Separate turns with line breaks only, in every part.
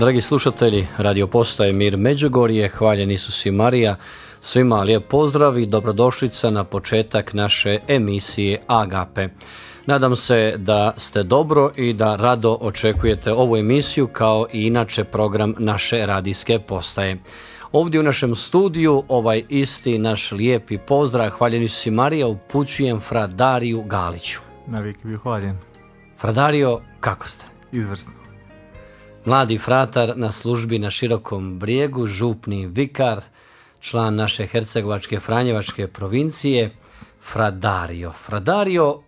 Dragi slušatelji, radio postaje Mir Međugorje, hvaljen Isus i Marija, svima lijep pozdrav i dobrodošlica na početak naše emisije Agape. Nadam se da ste dobro i da rado očekujete ovu emisiju kao i inače program naše radijske postaje. Ovdje u našem studiju ovaj isti naš lijepi pozdrav, hvaljen Isus i Marija, upućujem Fra Dariju Galiću.
Navijek bio hvaljen.
Fra Dario, kako ste?
Izvrsno.
Mladi fratar na službi na Širokom Brijegu, župni vikar, član naše Hercegovačke Franjevačke provincije, Fra Dario. Fra Dario,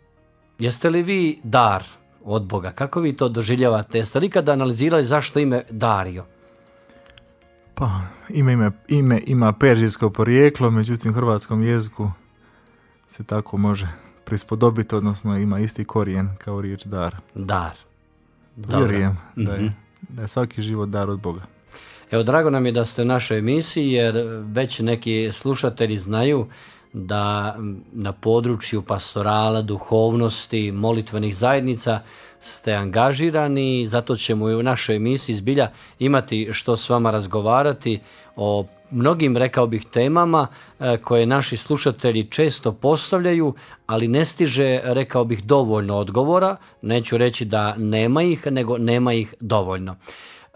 jeste li vi dar od Boga? Kako vi to doživljavate? Jeste li ikada analizirali zašto ime Dario?
Pa, ime ima perzijsko porijeklo, međutim u hrvatskom jeziku se tako može prispodobiti, odnosno ima isti korijen kao riječ dar.
Dar.
Vjerujem da je svaki život dar od Boga.
Evo, drago nam je da ste u našoj emisiji, jer već neki slušatelji znaju da na području pastorala, duhovnosti, molitvenih zajednica ste angažirani, zato ćemo i u našoj emisiji zbilja imati što s vama razgovarati o mnogim, rekao bih, temama koje naši slušatelji često postavljaju, ali ne stiže, rekao bih, dovoljno odgovora. Neću reći da nema ih, nego nema ih dovoljno.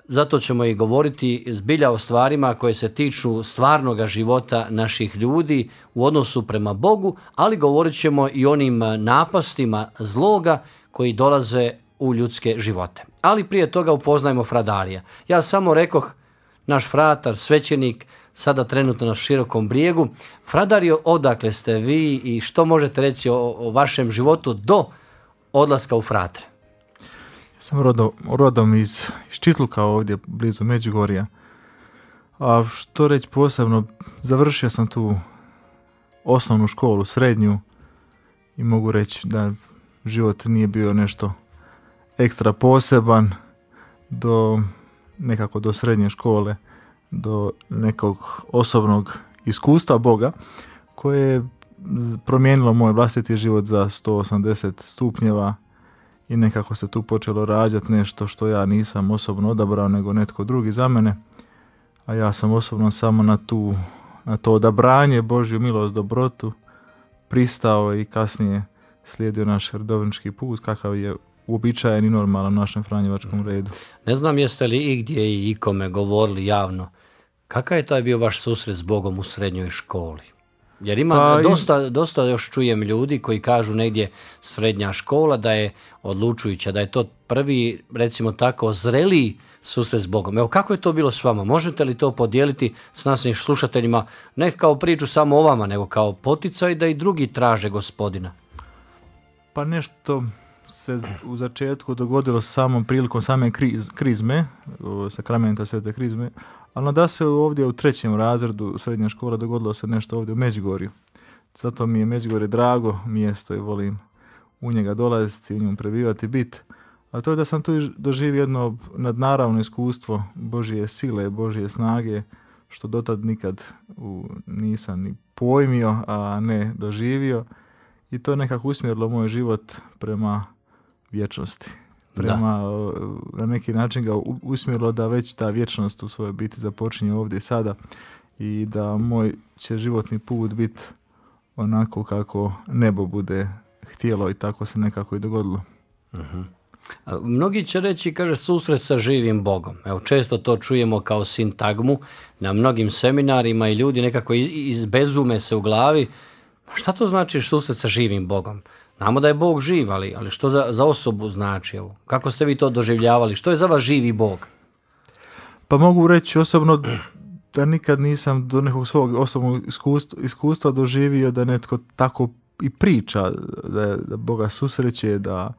Zato ćemo i govoriti zbilja o stvarima koje se tiču stvarnoga života naših ljudi u odnosu prema Bogu, ali govorit ćemo i onim napastima zloga koji dolaze u ljudske živote. Ali prije toga upoznajmo Fra Darija. Ja samo rekoh, naš fratar, svećenik, sada trenutno na Širokom Brijegu. Fra Dario, odakle ste vi i što možete reći o vašem životu do odlaska u fratre?
Ja sam rodom iz Čitluka, ovdje blizu Međugorja. A što reći posebno, završio sam tu osnovnu školu, srednju, i mogu reći da život nije bio nešto ekstra poseban nekako do srednje škole, do nekog osobnog iskustva Boga koje je promijenilo moj vlastiti život za 180 stupnjeva i nekako se tu počelo rađati nešto što ja nisam osobno odabrao, nego netko drugi za mene, a ja sam osobno samo na to odabranje, Božju milost, dobrotu pristao i kasnije slijedio naš redovnički put kakav je uobičajen i normalan u našem franjevačkom redu.
Ne znam jeste li igdje i ikome govorili javno kakav je taj bio vaš susret s Bogom u srednjoj školi? Jer ima dosta još čujem ljudi koji kažu negdje srednja škola da je odlučujuća, da je to prvi, recimo tako, zreliji susret s Bogom. Evo, kako je to bilo s vama? Možete li to podijeliti s našim slušateljima, ne kao priču samo o vama, nego kao poticaj da i drugi traže Gospodina?
Pa nešto se u začetku dogodilo samom prilikom same krizme, sakramenta svete krizme, ali da se ovdje u 3. razredu srednje škole dogodilo se nešto ovdje u Međugorju. Zato mi je Međugorje drago mjesto i volim u njega dolaziti, u njemu prebivati, biti. A to je da sam tu doživio jedno nadnaravno iskustvo Božje sile, Božje snage, što dotad nikad nisam ni pojmio, a ne doživio. I to je nekako usmjerilo moj život prema vječnosti. Na neki način ga usmjerilo da već ta vječnost u svojoj biti započinje ovdje i sada i da moj će životni put biti onako kako nebo bude htjelo i tako se nekako i dogodilo.
Uh-huh. Mnogi će reći, kaže, susret sa živim Bogom. Evo, često to čujemo kao sintagmu na mnogim seminarima i ljudi nekako izbezume se u glavi. Šta to znači susret sa živim Bogom? Znamo da je Bog živ, ali što za osobu znači? Evo, kako ste vi to doživljavali? Što je za vas živi Bog?
Pa mogu reći osobno da nikad nisam do nekog svog osobnog iskustva doživio da netko tako i priča, da Boga susreće, da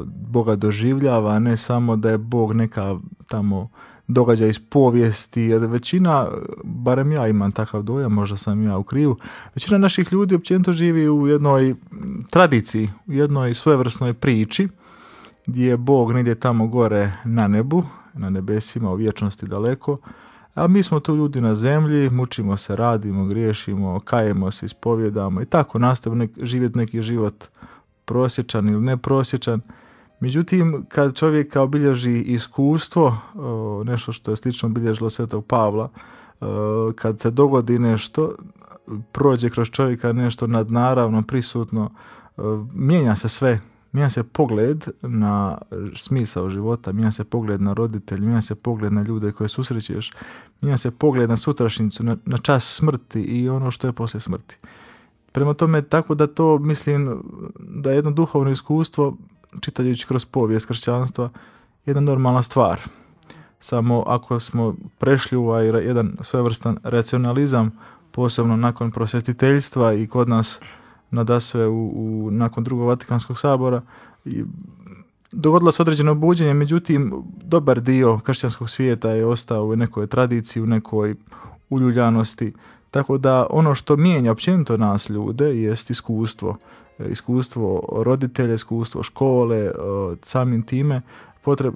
Boga doživljava, a ne samo da je Bog neka tamo događaj iz povijesti, jer većina, barem ja imam takav dojam, možda sam ja u krivu, većina naših ljudi općenito živi u jednoj tradiciji, u jednoj svojevrsnoj priči, gdje je Bog negdje tamo gore na nebu, na nebesima, u vječnosti daleko, a mi smo tu ljudi na zemlji, mučimo se, radimo, griješimo, kajemo se, ispovjedamo i tako nastavimo živjeti neki život prosječan ili neprosječan. Međutim, kad čovjeka obilježi iskustvo, nešto što je slično obilježilo Svetog Pavla, kad se dogodi nešto, prođe kroz čovjeka nešto nadnaravno, prisutno, mijenja se sve. Mijenja se pogled na smisao života, mijenja se pogled na roditelje, mijenja se pogled na ljude koje susrećeš, mijenja se pogled na sutrašnjicu, na čas smrti i ono što je poslije smrti. Prema tome, tako da to mislim da je jedno duhovno iskustvo, čitajući kroz povijest kršćanstva, jedna normalna stvar. Samo ako smo prešli u jedan svojevrstan racionalizam, posebno nakon prosvjetiteljstva i kod nas nadasve nakon drugog Vatikanskog sabora, dogodilo se određeno buđenje, međutim dobar dio kršćanskog svijeta je ostao u nekoj tradiciji, u nekoj uljuljanosti, tako da ono što mijenja općenito nas ljude jest iskustvo roditelja, iskustvo škole, samim time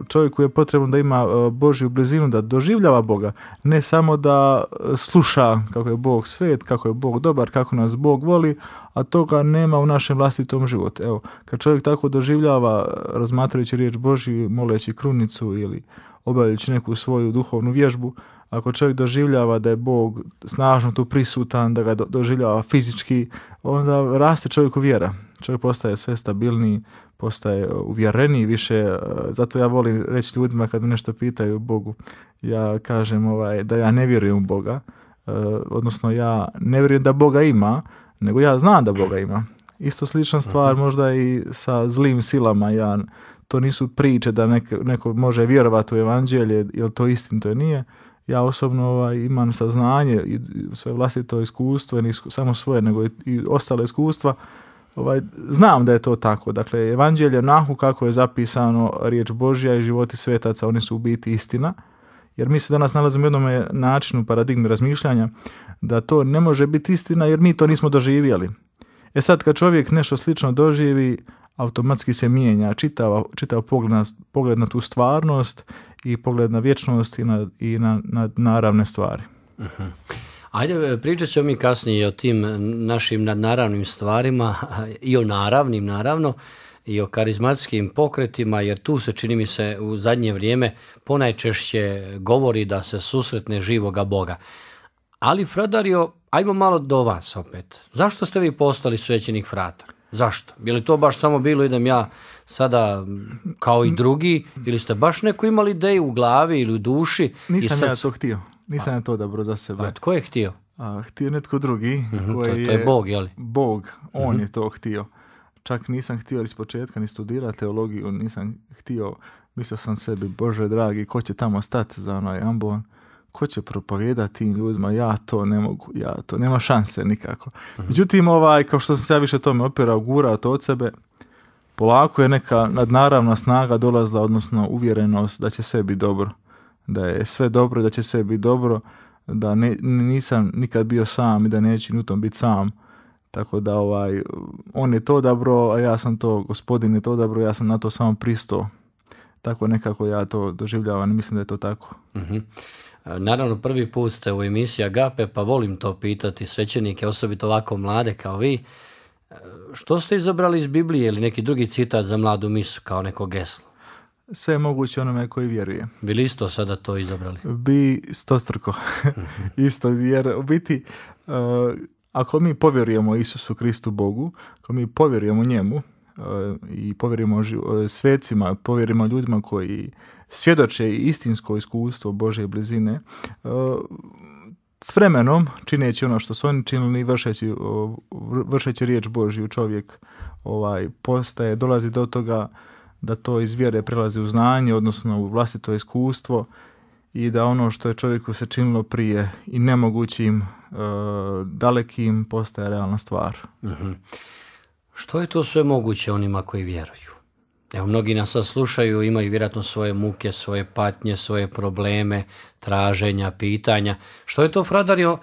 čovjeku je potrebno da ima Božju blizinu, da doživljava Boga, ne samo da sluša kako je Bog svet, kako je Bog dobar, kako nas Bog voli, a toga nema u našem vlastitom životu. Evo, kad čovjek tako doživljava, razmatrajući riječ Božju, moleći krunicu ili obavljajući neku svoju duhovnu vježbu, ako čovjek doživljava da je Bog snažno tu prisutan, da ga doživljava fizički, onda raste čovjeku vjera. Čovjek postaje sve stabilniji, postaje uvjereniji više. Zato ja volim reći ljudima kad me nešto pitaju o Bogu, ja kažem da ja ne vjerujem u Boga, odnosno ja ne vjerujem da Boga ima, nego ja znam da Boga ima. Isto slična stvar možda i sa zlim silama. To nisu priče da neko može vjerovati u evanđelje, jer to istinito nije. Ja osobno imam saznanje i svoje vlastito iskustvo, ne samo svoje, nego i ostale iskustva. Znam da je to tako. Dakle, evanđelje onako kako je zapisano, riječ Božja i životi svetaca, oni su u biti istina. Jer mi se danas nalazimo u jednom načinu, paradigmi razmišljanja, da to ne može biti istina jer mi to nismo doživjeli. Sad kad čovjek nešto slično doživi, automatski se mijenja čitav pogled na tu stvarnost i pogled na vječnost i na naravne stvari.
Uh-huh. Ajde, pričat ćemo mi kasnije o tim našim nadnaravnim stvarima i o naravnim, naravno, i o karizmatskim pokretima, jer tu se, čini mi se, u zadnje vrijeme ponajčešće govori da se susretne živoga Boga. Ali, Fradario, ajmo malo do vas opet. Zašto ste vi postali svećenik Fratar? Zašto? Je li to baš samo bilo idem ja sada kao i drugi, ili ste baš neku imali ideju u glavi ili u duši?
Nisam ja to htio. Nisam ja to odabrao za sebe.
A tko je htio?
Htio netko drugi.
To je Bog, je li?
Bog, on je to htio. Čak nisam htio iz početka ni studirati teologiju, nisam htio, mislio sam sebi, Bože dragi, ko će tamo stati za onaj ambon, ko će propovijedati tim ljudima, ja to ne mogu, nema šanse nikako. Međutim, kao što sam se ja više tome opirao, gurao to od sebe, polako je neka nadnaravna snaga dolazila, odnosno uvjerenost da će sve biti dobro, da je sve dobro, da će sve biti dobro, da nisam nikad bio sam i da neću ni u tom biti sam. Tako da on je to odabrao, a ja sam to, Gospodin je to odabrao, ja sam na to samo pristao. Tako nekako ja to doživljavam i mislim da je to tako.
Uh-huh. Naravno, prvi put ste u emisiji Agape, pa volim to pitati svećenike, osobito ovako mlade kao vi. Što ste izabrali iz Biblije ili neki drugi citat za mladu misu kao neko geslo?
Sve je moguće onome koji vjeruje.
Bi li isto sada to izabrali?
Bi stostruko. Isto, jer u biti... Ako mi povjerujemo Isusu Kristu Bogu, ako mi povjerujemo njemu i povjerujemo svecima, povjerujemo ljudima koji svjedoče istinsko iskustvo Božje blizine, s vremenom, čineći ono što su oni činili, vršeći riječ Božju, čovjek dolazi do toga da to iz vjere prelazi u znanje, odnosno u vlastito iskustvo, i da ono što je čovjeku se činilo prije i nemogućim, dalekim, postaje realna stvar.
Uh-huh. Što je to sve moguće onima koji vjeruju? Evo, mnogi nas sad slušaju, imaju vjerojatno svoje muke, svoje patnje, svoje probleme, traženja, pitanja. Što je to, Fradario,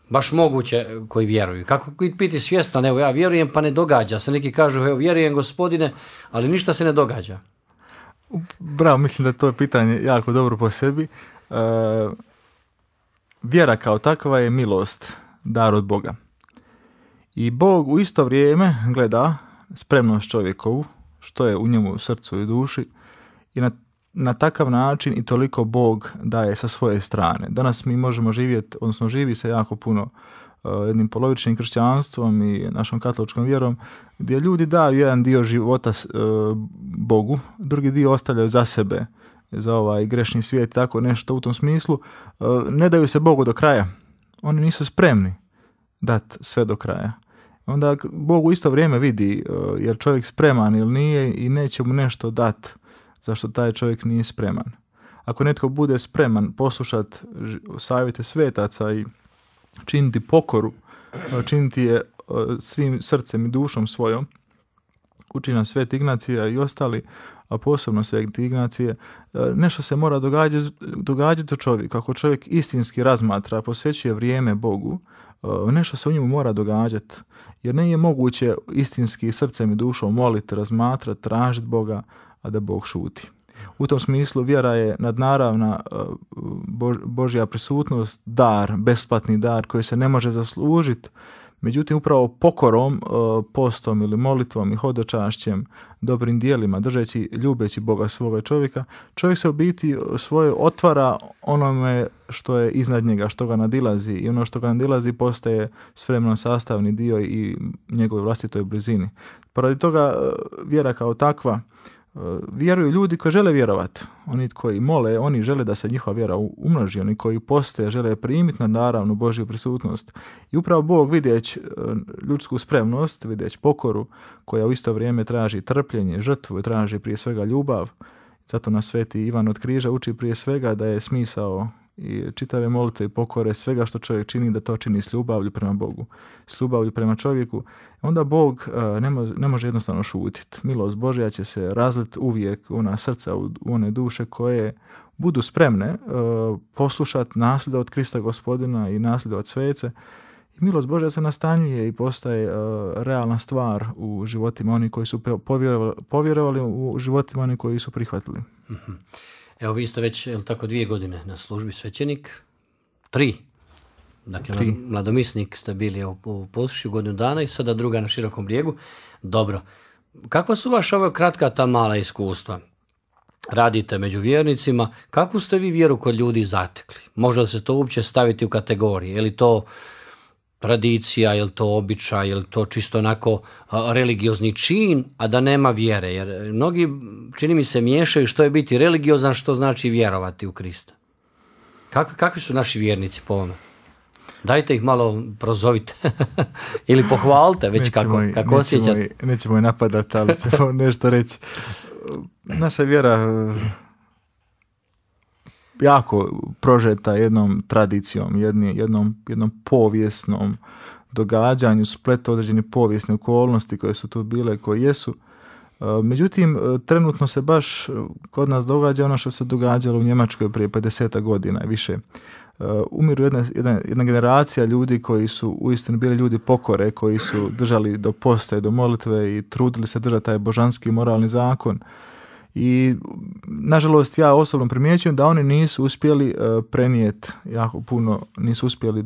baš moguće koji vjeruju? Kako biti svjestan, evo ja vjerujem pa ne događa se. Neki kažu, evo vjerujem Gospodine, ali ništa se ne događa.
Bravo, mislim da to je pitanje jako dobro po sebi. Vjera kao takva je milost, dar od Boga. I Bog u isto vrijeme gleda spremnost čovjekovu, što je u njemu srcu i duši i na takav način i toliko Bog daje sa svoje strane. Danas mi možemo živjeti, odnosno živi se jako puno jednim polovičnim kršćanstvom i našom katoličkom vjerom, gdje ljudi daju jedan dio života Bogu, drugi dio ostavljaju za sebe, za ovaj grešni svijet, tako nešto u tom smislu. Ne daju se Bogu do kraja. Oni nisu spremni dati sve do kraja. Onda Bog u isto vrijeme vidi jer čovjek spreman ili nije i neće mu nešto dati zašto taj čovjek nije spreman. Ako netko bude spreman poslušati savjete svetaca i činiti pokoru, činiti je svim srcem i dušom svojom, uči nas Sveti Ignacija i ostali, a posebno Sveti Ignacije, nešto se mora događati u čovjeku. Ako čovjek istinski razmatra, posvećuje vrijeme Bogu, nešto se u njemu mora događati, jer nije moguće istinski srcem i dušom moliti, razmatrati, tražiti Boga, a da Bog šuti. U tom smislu vjera je nadnaravna Božja prisutnost, dar, besplatni dar koji se ne može zaslužiti. Međutim, upravo pokorom, postom ili molitvom i hodočašćem, dobrim dijelima, držeći, ljubeći Boga svoga čovjeka, čovjek se u biti svoje otvara onome što je iznad njega, što ga nadilazi, i ono što ga nadilazi postaje s vremenom sastavni dio i njegovoj vlastitoj blizini. Poradi toga vjera kao takva, vjeruju ljudi koji žele vjerovati. Oni koji mole, oni žele da se njihova vjera umnoži. Oni koji poste žele primiti naravnu Božju prisutnost. I upravo Bog, vidjeć ljudsku spremnost, vidjeć pokoru, koja u isto vrijeme traži trpljenje, žrtvu i traži prije svega ljubav. Zato nas Sveti Ivan od Križa uči prije svega da je smisao i čitave molitve i pokore, svega što čovjek čini, da to čini s ljubavlju prema Bogu, s ljubavlju prema čovjeku. Onda Bog ne može jednostavno šutiti. Milost Božja će se razliti uvijek u ona srca, u one duše koje budu spremne poslušati, nasljedovati Krista Gospodina i nasljedovati svece. I milost Božja se nastanjuje i postaje realna stvar u životima oni koji su povjerovali, u životima oni koji su prihvatili.
Mm-hmm. Evo, vi ste već, tako, 2 godine na službi svećenik, 3. Dakle,
3.
Mladomisnik ste bili u Posušju godinu dana i sada druga na Širokom Brijegu. Dobro. Kakva su vaša ova kratka ta mala iskustva? Radite među vjernicima. Kakvu ste vi vjeru kod ljudi zatekli? Možda se to uopće staviti u kategorije? Je li to tradicija, je li to običaj, je li to čisto onako religiozni čin, a da nema vjere? Jer mnogi, čini mi se, miješaju što je biti religiozan, što znači vjerovati u Krista. Kakvi su naši vjernici po ovome? Dajte ih malo prozovite ili pohvalite već kako osjećate.
Nećemo je napadati, ali ćemo nešto reći. Naša vjera jako prožeta jednom tradicijom, jednom povijesnom događanju, spletu određene povijesne okolnosti koje su tu bile, koje jesu. Međutim, trenutno se baš kod nas događa ono što se događalo u Njemačkoj prije 50 godina i više. Umiru jedna generacija ljudi koji su uistinu bili ljudi pokore, koji su držali do posta i do molitve i trudili se držati taj božanski moralni zakon. I nažalost ja osobno primjećujem da oni nisu uspjeli prenijeti jako puno, nisu uspjeli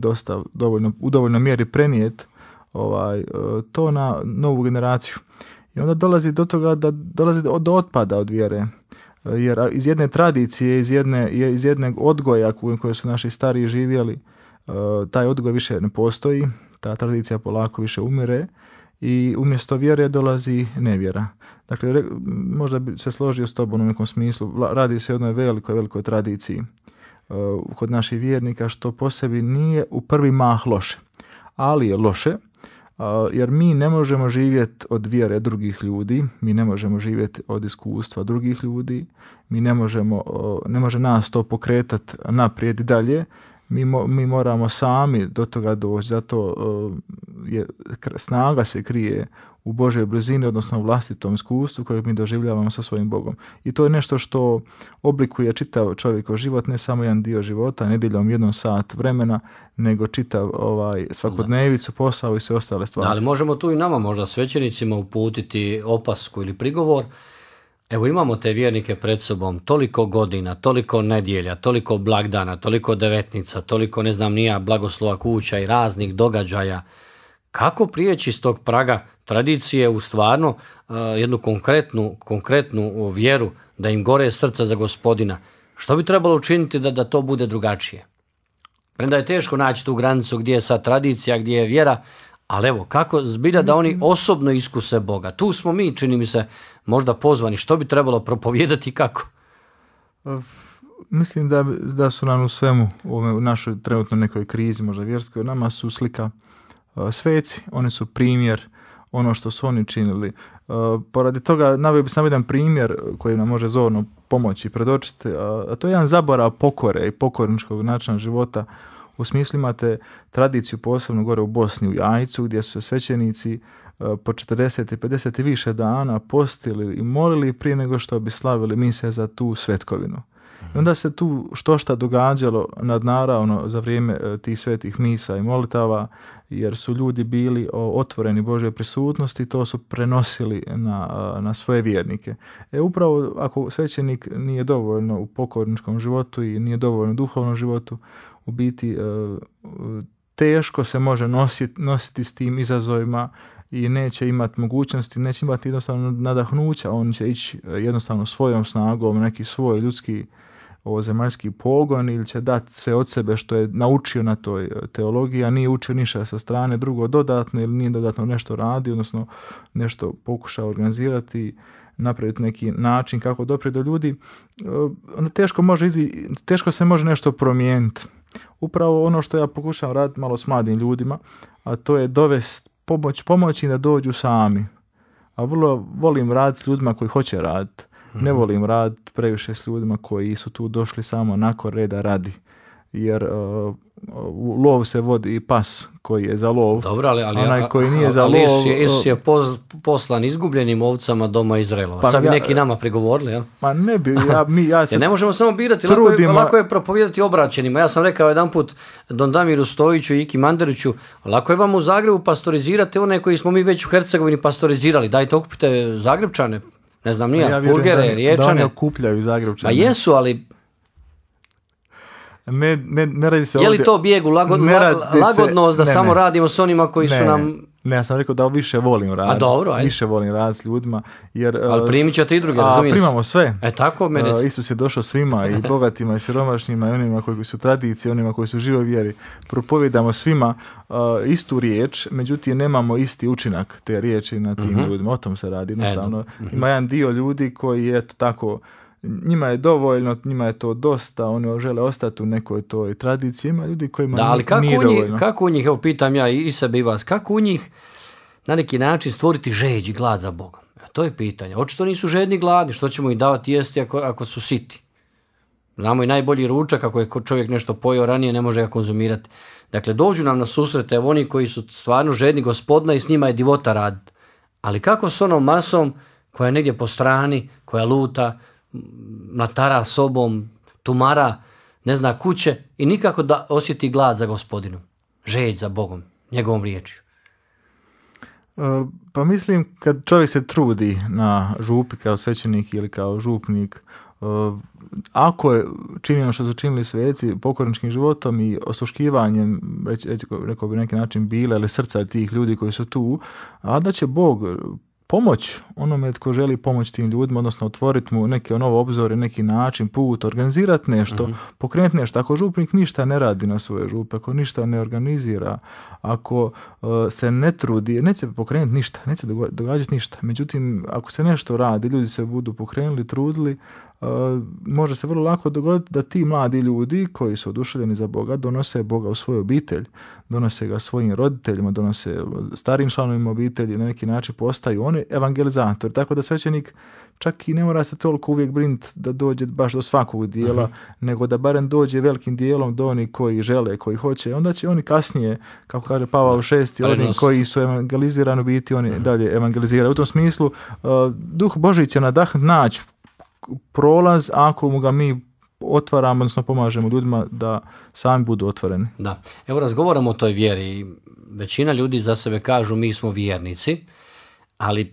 u dovoljnoj mjeri prenijeti to na novu generaciju. I onda dolazi do toga da dolazi do otpada od vjere. Jer iz jedne tradicije, iz jednog odgoja koje su naši stariji živjeli, taj odgoj više ne postoji, ta tradicija polako više umire i umjesto vjere dolazi nevjera. Dakle, možda bi se složio s tobom u nekom smislu, radi se o jednoj velikoj tradiciji kod naših vjernika, što po sebi nije u prvi mah loše, ali je loše jer mi ne možemo živjeti od vjere drugih ljudi, mi ne možemo živjeti od iskustva drugih ljudi, ne može nas to pokretati naprijed i dalje, mi moramo sami do toga doći, zato snaga se krije u Božoj blizini, odnosno u vlastitom iskustvu kojeg mi doživljavamo sa svojim Bogom. I to je nešto što oblikuje čitav čovjekov život, ne samo jedan dio života, nedjeljom 1 sat vremena, nego čitav svakodnevicu, posao i sve ostale stvari.
Da, ali možemo tu i nama, možda svećenicima, uputiti opasku ili prigovor. Evo, imamo te vjernike pred sobom, toliko godina, toliko nedjelja, toliko blagdana, toliko devetnica, toliko, ne znam, nija, blagoslova kuća i raznih događaja. kako prijeći iz tog praga tradicije u stvarno jednu konkretnu vjeru, da im gore srca za Gospodina? Što bi trebalo učiniti da to bude drugačije? Premda je teško naći tu granicu gdje je sad tradicija, gdje je vjera, ali evo, kako zbilja da oni osobno iskuse Boga? Tu smo mi, čini mi se, možda pozvani. Što bi trebalo propovijedati i kako?
Mislim da su nam u svemu, u našoj trenutno nekoj krizi, možda vjerskoj, nama su slika sveci, oni su primjer ono što su oni činili. Poradi toga naveo bi sam jedan primjer koji nam može zorno pomoći predočiti, a to je jedan zaborav pokore i pokorničkog načina života. U smislu imate tradiciju posebno gore u Bosni, u Jajcu, gdje su se svećenici po 40 i 50 i više dana postili i molili prije nego što bi slavili mise za tu svetkovinu. I onda se tu šta događalo nadnaravno za vrijeme tih svetih misa i molitava, jer su ljudi bili otvoreni Božje prisutnosti, to su prenosili na svoje vjernike. Upravo ako svećenik nije dovoljno u pokorničkom životu i nije dovoljno u duhovnom životu, u biti teško se može nositi s tim izazovima i neće imati mogućnosti, neće imati jednostavno nadahnuća, on će ići jednostavno svojom snagom, neki svoj ljudski zemaljski pogon ili će dati sve od sebe što je naučio na toj teologiji, a nije učio ništa sa strane drugo dodatno ili nije dodatno nešto radi, odnosno nešto pokušao organizirati, napraviti neki način kako doprijeti do ljudi, onda teško se može nešto promijeniti. Upravo ono što ja pokušavam raditi malo s mladim ljudima, a to je dovesti pomoći da dođu sami. A vrlo volim raditi s ljudima koji hoće raditi. Ne volim raditi previše s ljudima koji su tu došli samo nakon reda radi. Jer u lov se vodi i pas koji je za lov.
Dobro, ali
onaj koji nije za
ali
lov.
Isus je poslan izgubljenim ovcama doma Izraelova.
Pa
sad bi neki nama prigovorili, jel?
Pa ne bi, ja se
ne možemo samo birati, lako je propovijedati obraćenima. Ja sam rekao jedan put Don Damiru Stojiću i Iki Mandariću, lako je vam u Zagrebu pastorizirati one koji smo mi već u Hercegovini pastorizirali. Dajte, okupite Zagrebčane, ne znam nija, Purgere, Riječane.
Da oni okupljaju Zagrebčane.
Pa jesu, ali
ne radi se
je li
ovdje,
to bijeg u lagodnost da samo radimo s onima koji su nam...
Ne, ja sam rekao da više volim raditi.
A dobro, ajde.
Više volim raditi s ljudima. Jer,
ali primit ćete i druge, razumiješ?
Primamo sve.
Tako meni.
Isus je došao svima, i bogatima, i siromašnima, i onima koji su tradicije, onima koji su živoj vjeri. Propovijedamo svima istu riječ, međutim nemamo isti učinak te riječi na tim ljudima. O tom se radi. Jednostavno, ima jedan dio ljudi koji je tako, njima je dovoljno, njima je to dosta, oni žele ostati u nekoj toj tradiciji, ima ljudi kojima nije dovoljno.
Kako u njih, evo pitam ja i sebe i vas, kako u njih na neki način stvoriti žeđ i glad za Bogom? To je pitanje. Očito nisu žedni gladni, što ćemo ih davati jesti ako su siti? Znamo i najbolji ručak, ako je čovjek nešto pojeo ranije, ne može ga konzumirati. Dakle, dođu nam na susrete evo oni koji su stvarno žedni Gospodina i s njima je divota raditi. Ali kako s onom masom koja je negdje po strani, koja luta, mlatara sobom, tumara, ne zna kuće i nikako da osjeti glad za Gospodinom, žeđ za Bogom, njegovom riječju?
Pa mislim, kad čovjek se trudi na župi kao svećenik ili kao župnik, ako je činjeno što su činili sveci pokorničkim životom i osluškivanjem, rekao bi neki način bile ili srca tih ljudi koji su tu, a da će Bog pomoć onome tko želi pomoći tim ljudima, odnosno otvoriti mu neke novo obzore, neki način, put, organizirati nešto, pokrenuti nešto. Ako župnik ništa ne radi na svoje župe, ako ništa ne organizira, ako se ne trudi, neće se pokrenuti ništa, neće se događati ništa. Međutim, ako se nešto radi, ljudi se budu pokrenuli, trudili, može se vrlo lako dogoditi da ti mladi ljudi koji su oduševljeni za Boga donose Boga u svoju obitelj, donose ga svojim roditeljima, donose starim članovima obitelji, na neki način postaju oni evangelizatori. Tako da svećenik čak i ne mora se toliko uvijek brinuti da dođe baš do svakog dijela, nego da barem dođe velikim dijelom do onih koji žele, koji hoće. Onda će oni kasnije, kako kaže Pavao VI, oni koji su evangelizirani biti, oni dalje evangeliziraju. U tom smislu, Duh Božji će naći prolaz ako mu ga mi otvaramo, odnosno pomažemo ljudima da sami budu otvoreni.
Da. Evo razgovaramo o toj vjeri. Većina ljudi za sebe kažu mi smo vjernici, ali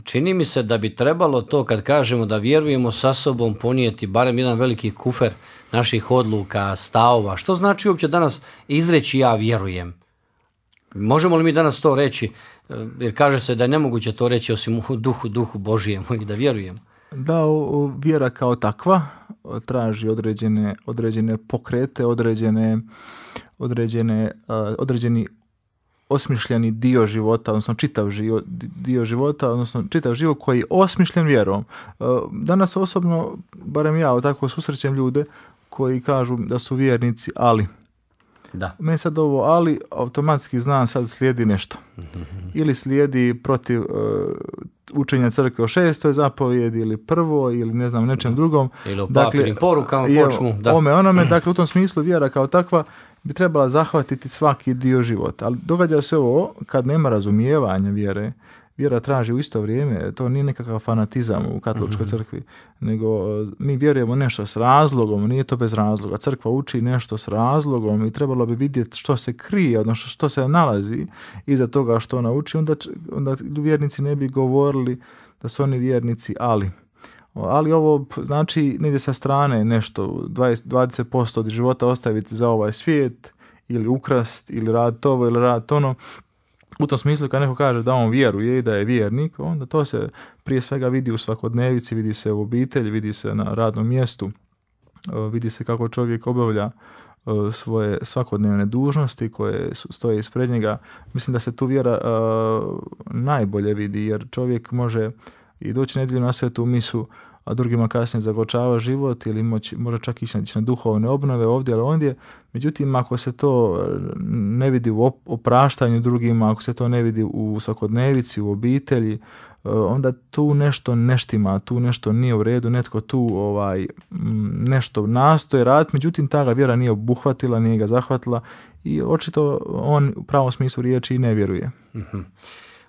čini mi se da bi trebalo to kad kažemo da vjerujemo sa sobom ponijeti barem jedan veliki kufer naših odluka, stavova. Što znači uopće danas izreći ja vjerujem? Možemo li mi danas to reći, jer kaže se da je nemoguće to reći osim u duhu Božijem i da vjerujemo?
Da, vjera kao takva traži određene pokrete, određeni osmišljeni dio života, odnosno čitav život koji je osmišljen vjerom. Danas osobno, barem ja tako susrećem ljude koji kažu da su vjernici, ali meni sad ovo ali automatski znam sad slijedi nešto. Ili slijedi protiv učenja crkve o 6. zapovjedi ili prvo ili ne znam nečem drugom.
Ili o papinim porukama počnu.
Onome, dakle u tom smislu vjera kao takva bi trebala zahvatiti svaki dio života. Ali događa se ovo kad nema razumijevanja vjere. Vjera traži u isto vrijeme, to nije nekakav fanatizam u katoličkoj crkvi, nego mi vjerujemo nešto s razlogom, nije to bez razloga. Crkva uči nešto s razlogom i trebalo bi vidjeti što se krije, odnosno što se nalazi iza toga što ona uči, onda vjernici ne bi govorili da su oni vjernici, ali ovo znači negdje sa strane nešto, 20% od života ostaviti za ovaj svijet, ili ukrast, ili raditi ovo, ili raditi ono. U tom smislu kad neko kaže da on vjeruje i da je vjernik, onda to se prije svega vidi u svakodnevici, vidi se u obitelji, vidi se na radnom mjestu, vidi se kako čovjek obavlja svoje svakodnevne dužnosti koje stoje ispred njega. Mislim da se tu vjera najbolje vidi, jer čovjek može i doći nedjelju na svetu misu, a drugima kasnije zagorčava život ili može čak ići na duhovne obnove ovdje ili ondje. Međutim, ako se to ne vidi u opraštanju drugima, ako se to ne vidi u svakodnevici, u obitelji, onda tu nešto ne štima, tu nešto nije u redu, netko tu nešto nastoje raditi, međutim ta ga vjera nije obuhvatila, nije ga zahvatila i očito on u pravom smislu riječi i ne vjeruje.
Mm-hmm.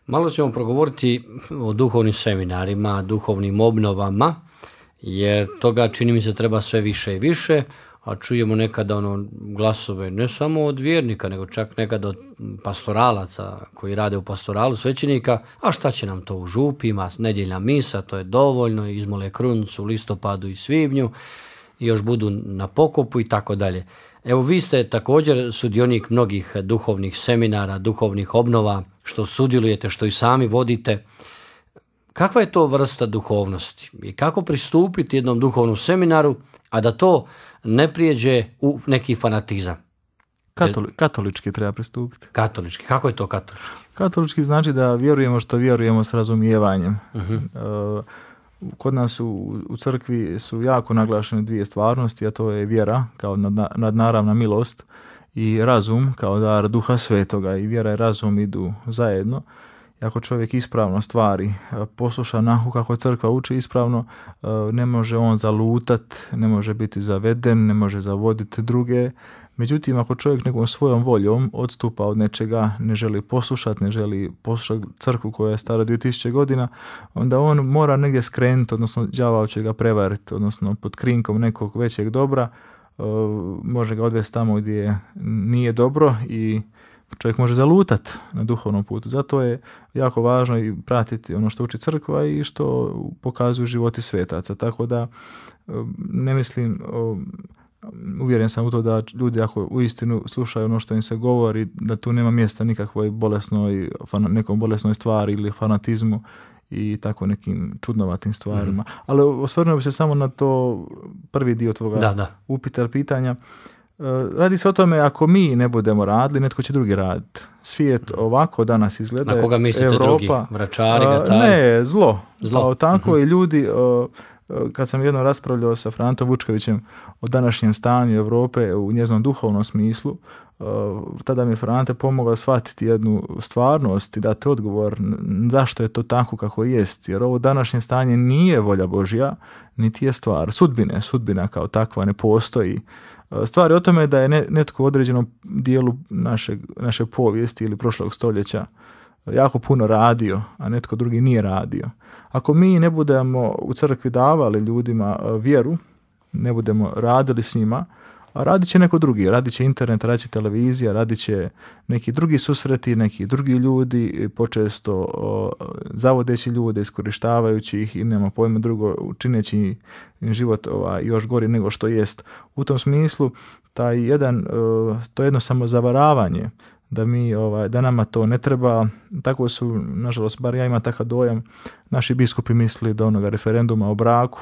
Malo ćemo progovoriti o duhovnim seminarima, duhovnim obnovama, jer toga čini mi se treba sve više i više, a čujemo nekada glasove ne samo od vjernika, nego čak nekada od pastoralaca koji rade u pastoralu svećenika, a šta će nam to u župima, nedjeljna misa, to je dovoljno, izmole krunicu u listopadu i svibnju, i još budu na pokopu i tako dalje. Evo, vi ste također sudionik mnogih duhovnih seminara, duhovnih obnova, što sudjelujete, što i sami vodite. Kakva je to vrsta duhovnosti i kako pristupiti jednom duhovnom seminaru, a da to ne prijeđe u neki fanatizam?
Katolički treba pristupiti.
Katolički, kako je to katolički?
Katolički znači da vjerujemo što vjerujemo s razumijevanjem.
Uh-huh.
Kod nas u crkvi su jako naglašene dvije stvarnosti, a to je vjera kao nadnaravna milost i razum kao dar Duha Svetoga. I vjera i razum idu zajedno. I ako čovjek ispravno stvari posluša onako kako crkva uči ispravno, ne može on zalutat, ne može biti zaveden, ne može zavoditi druge. Međutim, ako čovjek nekom svojom voljom odstupa od nečega, ne želi poslušati crkvu koja je stara 2000 godina, onda on mora negdje skrenuti, odnosno đavao će ga prevariti, odnosno pod krinkom nekog većeg dobra, može ga odvesti tamo gdje nije dobro i čovjek može zalutati na duhovnom putu. Zato je jako važno i pratiti ono što uči crkva i što pokazuju životi svetaca. Tako da ne mislim, uvjeren sam u to da ljudi ako uistinu slušaju ono što im se govori, da tu nema mjesta nikakvoj nekom bolesnoj stvari ili fanatizmu i tako nekim čudnovatim stvarima. Ali osvrnuo bi se samo na to prvi dio tvoga upita, pitanja. Radi se o tome, ako mi ne budemo radili, netko će drugi raditi. Svijet ovako danas izgleda.
Na koga mislite
Europa,
drugi? Vračari, gatari?
Ne, zlo. Tako i ljudi, kad sam jednom raspravljao sa Frantom Vučkovićem o današnjem stanju Europe u njezinom duhovnom smislu, tada mi je Frante pomogao shvatiti jednu stvarnost i dati odgovor zašto je to tako kako jest. Jer ovo današnje stanje nije volja Božja, niti je stvar sudbina kao takva ne postoji. Stvar je o tome da je netko u određenom dijelu naše povijesti ili prošlog stoljeća jako puno radio, a netko drugi nije radio. Ako mi ne budemo u crkvi davali ljudima vjeru, ne budemo radili s njima, a radit će neko drugi, radit će internet, radit će televizija, radit će neki drugi susreti, neki drugi ljudi, počesto zavodeći ljude, iskorištavajući ih i nema pojma drugo, čineći im život još gori nego što jest. U tom smislu to jedno samozavaravanje da nama to ne treba. Tako su, nažalost, bar ja imam takav dojam, naši biskupi misli do onoga referenduma o braku,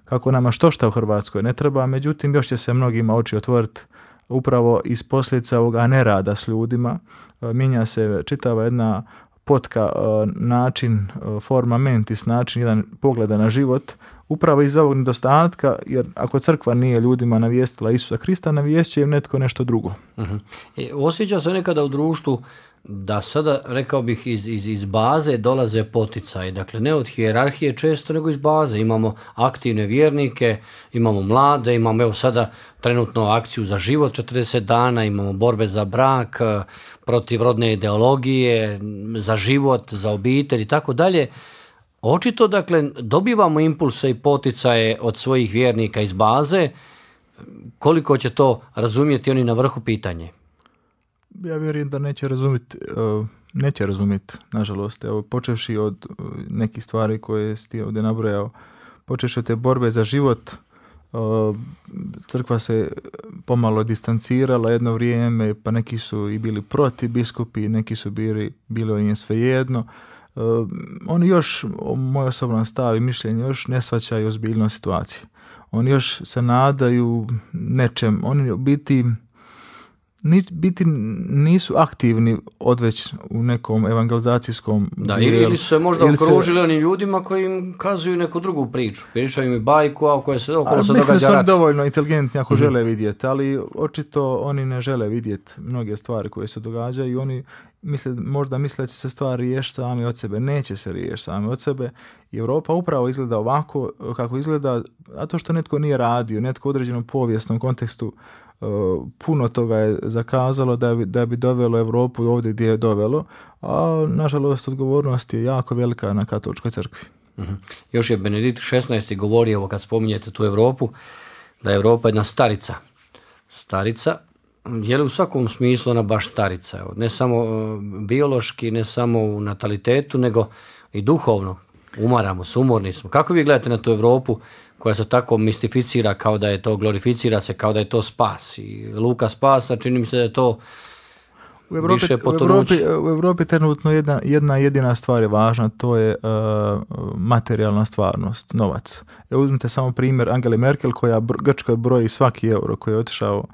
kako nama što u Hrvatskoj ne treba, međutim još će se mnogima oči otvoriti upravo iz posljedica ovoga nerada s ljudima. Mijenja se čitava jedna potka, način, forma mentis, način, jedan pogleda na život, upravo iz ovog nedostatka, jer ako crkva nije ljudima navijestila Isusa Krista, navijest će im netko nešto drugo.
Osjeća se nekada u društvu da sada, rekao bih, iz baze dolaze poticaji, dakle ne od hijerarhije često, nego iz baze. Imamo aktivne vjernike, imamo mlade, imamo evo sada trenutno akciju za život 40 dana, imamo borbe za brak, protiv rodne ideologije, za život, za obitelj i tako dalje. Očito, dakle, dobivamo impulse i poticaje od svojih vjernika iz baze. Koliko će to razumjeti oni na vrhu, pitanje?
Ja vjerujem da neće razumjeti, nažalost. Evo, počevši od nekih stvari koje si ti ovdje nabrojao, počevši od te borbe za život, crkva se pomalo distancirala jedno vrijeme, pa neki su i bili protiv biskupi, neki su bili o njim svejedno. Oni još, moj osoban stav i mišljenje, još ne shvaćaju ozbiljnost situacije. Oni još se nadaju nečem. Oni u biti nisu aktivni odveć u nekom evangelizacijskom
dijelu. Ili su se možda okružili onim ljudima koji im kazuju neku drugu priču. Pričaju mi bajku, a koje se okolo se događa rat.
Mislim da su oni dovoljno inteligentni ako žele vidjeti, ali očito oni ne žele vidjeti mnoge stvari koje se događaju i oni možda misle da će se stvari riješiti sami od sebe. Neće se riješiti sami od sebe. I Europa upravo izgleda ovako kako izgleda, a to što netko nije radio, netko u određenom povijesnom kontekstu puno toga je zakazalo da bi dovelo Europu ovdje gdje je dovelo, a nažalost odgovornost je jako velika na katoličkoj crkvi.
Još je Benedikt XVI govorio, kad spominjete tu Europu, da je Europa jedna starica. Starica, je li u svakom smislu ona baš starica? Ne samo biološki, ne samo u natalitetu, nego i duhovno. Umaramo se, umorni smo. Kako vi gledate na tu Europu koja se tako mistificira kao da je to, glorificira se kao da je to spas? I luka spasa, čini mi se da je to više potonuće.
U Europi trenutno jedna jedina stvar je važna, to je materijalna stvarnost, novac. Uzmite samo primjer Angele Merkel koja Grčkoj broji svaki euro koji je otišao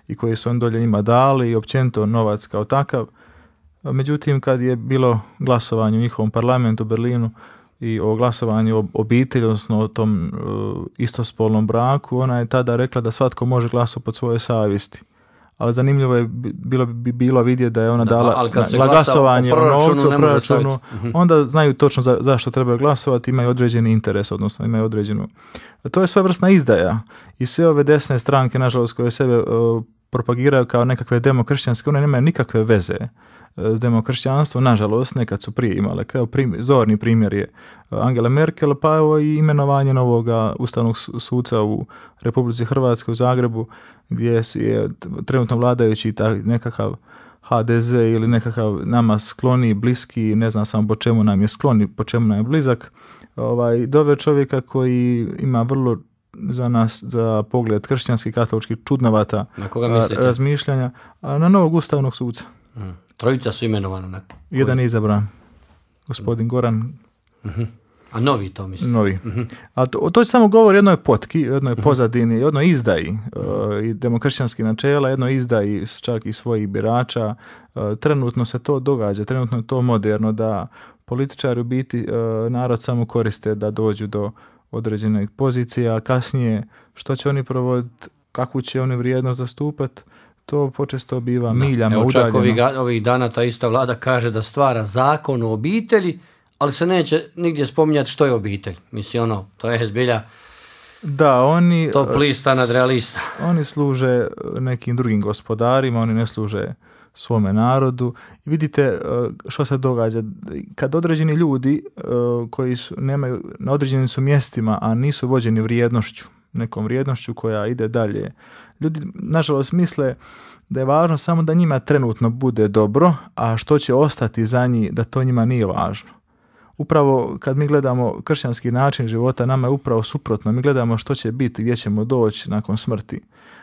i koji su on dolje njima dali i općenito novac kao takav. Međutim, kad je bilo glasovanje u njihovom parlamentu u Berlinu i o glasovanju o obitelji, odnosno o tom istospolnom braku, ona je tada rekla da svatko može glasovati pod svojoj savjesti. Ali zanimljivo je bilo vidjeti da je ona dala glasovanje o novcu, o proračunu, onda znaju točno zašto trebaju glasovati, imaju određeni interes, odnosno imaju određenu. To je svojevrsna izdaja i sve ove desne stranke, nažalost, koje sebe propagiraju kao nekakve demokršćanske, one nemaju nikakve veze s demokršćanstvom, nažalost, nekad su prije imale. Kao zorni primjer je Angela Merkel, pa evo i imenovanje novoga ustavnog suca u Republici Hrvatskoj u Zagrebu, gdje je trenutno vladajući nekakav HDZ ili nekakav nama skloni, bliski, ne znam samo po čemu nam je skloni, po čemu nam je blizak, doveo čovjeka koji ima vrlo za nas, za pogled kršćanski, katolički, čudnovata razmišljanja, a na novog ustavnog suca.
Trojica su imenovana.
Jedan je izabran, gospodin Goran.
A novi to mislim?
Novi. A to samo govori o jednoj potki, jednoj pozadini, jednoj izdaji i demokršćanskih načela, jednoj izdaji čak i svojih birača. Trenutno se to događa, trenutno je to moderno da političari u biti narod samo koriste da dođu do određenih pozicija, a kasnije što će oni provoditi, kakvu će oni vrijednost zastupati, to počesto biva miljama udaljeno.
Čak ovih dana ta ista vlada kaže da stvara zakon o obitelji, ali se neće nigdje spominjati što je obitelj. Mislim, to je zbilja top lista nadrealista.
Oni služe nekim drugim gospodarima, oni ne služe svome narodu. I vidite što se događa. Kad određeni ljudi koji nemaju, na određenim su mjestima, a nisu vođeni vrijednošću, nekom vrijednošću koja ide dalje, ljudi, nažalost, misle da je važno samo da njima trenutno bude dobro, a što će ostati za njih, da to njima nije važno. Upravo kad mi gledamo kršćanski način života, nama je upravo suprotno. Mi gledamo što će biti, gdje ćemo doći nakon smrti.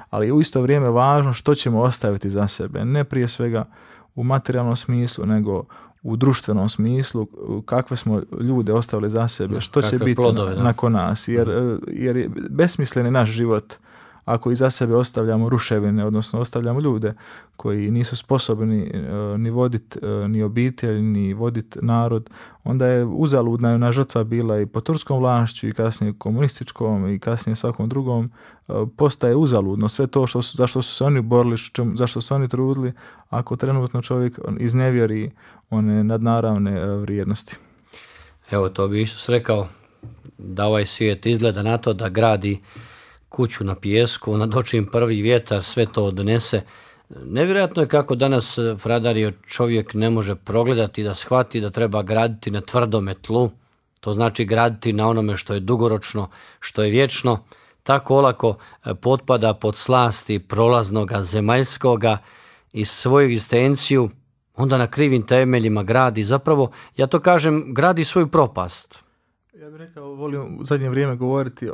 Ali u isto vrijeme važno što ćemo ostaviti za sebe. Ne prije svega u materijalnom smislu, nego u društvenom smislu, kakve smo ljude ostavili za sebe, što će biti nakon nas. Jer je besmislen je naš život ako iza sebe ostavljamo ruševine, odnosno ostavljamo ljude koji nisu sposobni ni voditi ni obitelj, ni voditi narod, onda je uzaludna ona žrtva bila i po turskom vlašću i kasnije komunističkom i kasnije svakom drugom, postaje uzaludno. Sve to zašto su se oni borili, zašto su oni trudili, ako trenutno čovjek iznevjeri one nadnaravne vrijednosti.
Evo, to bi Isus rekao, da ovaj svijet izgleda na to da gradi kuću na pijesku, nadočim prvi vjetar, sve to odnese. Nevjerojatno je kako danas, Fradario, čovjek ne može progledati da shvati da treba graditi na tvrdome tlu. To znači graditi na onome što je dugoročno, što je vječno. Tako olako potpada pod slasti prolaznoga zemaljskoga i svoju egzistenciju onda na krivim temeljima gradi. Zapravo, ja to kažem, gradi svoju propast.
Ja bih rekao, volim u zadnje vrijeme govoriti,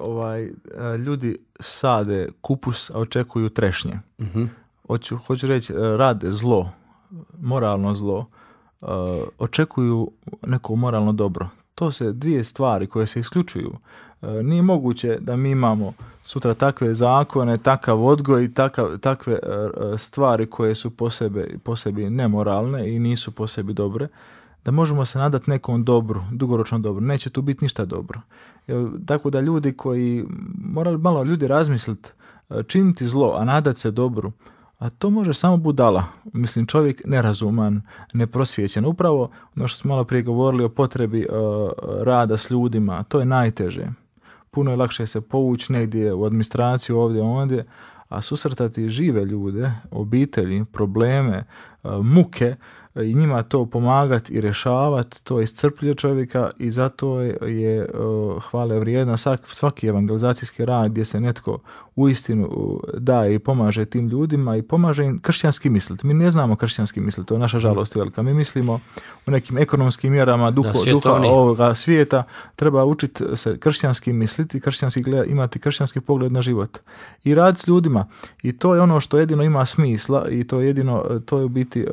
ljudi sade kupus, a očekuju trešnje. Uh-huh. Hoću reći, rade zlo, moralno zlo, očekuju neko moralno dobro. To se dvije stvari koje se isključuju. Nije moguće da mi imamo sutra takve zakone, takav odgoj i takve stvari koje su po sebi nemoralne i nisu po sebi dobre, da možemo se nadati nekom dobru, dugoročno dobru. Neće tu biti ništa dobro. Tako da ljudi koji, morali malo ljudi razmisliti, činiti zlo, a nadati se dobru, a to može samo budala. Mislim, čovjek nerazuman, neprosvijećen. Upravo ono što smo malo prije govorili o potrebi rada s ljudima, to je najteže. Puno je lakše se povući negdje u administraciju, ovdje, a susretati žive ljude, obitelji, probleme, muke, i njima to pomagati i rješavati, to iscrpljuje čovjeka i zato je hvale vrijedna svaki evangelizacijski rad gdje se netko uistinu daje i pomaže tim ljudima i pomaže im kršćanski misliti. Mi ne znamo kršćanski misliti, to je naša žalost velika. Mi mislimo u nekim ekonomskim mjerama duha ovoga svijeta, treba učiti se kršćanski misliti, imati kršćanski pogled na život i raditi s ljudima. I to je ono što jedino ima smisla i to je u biti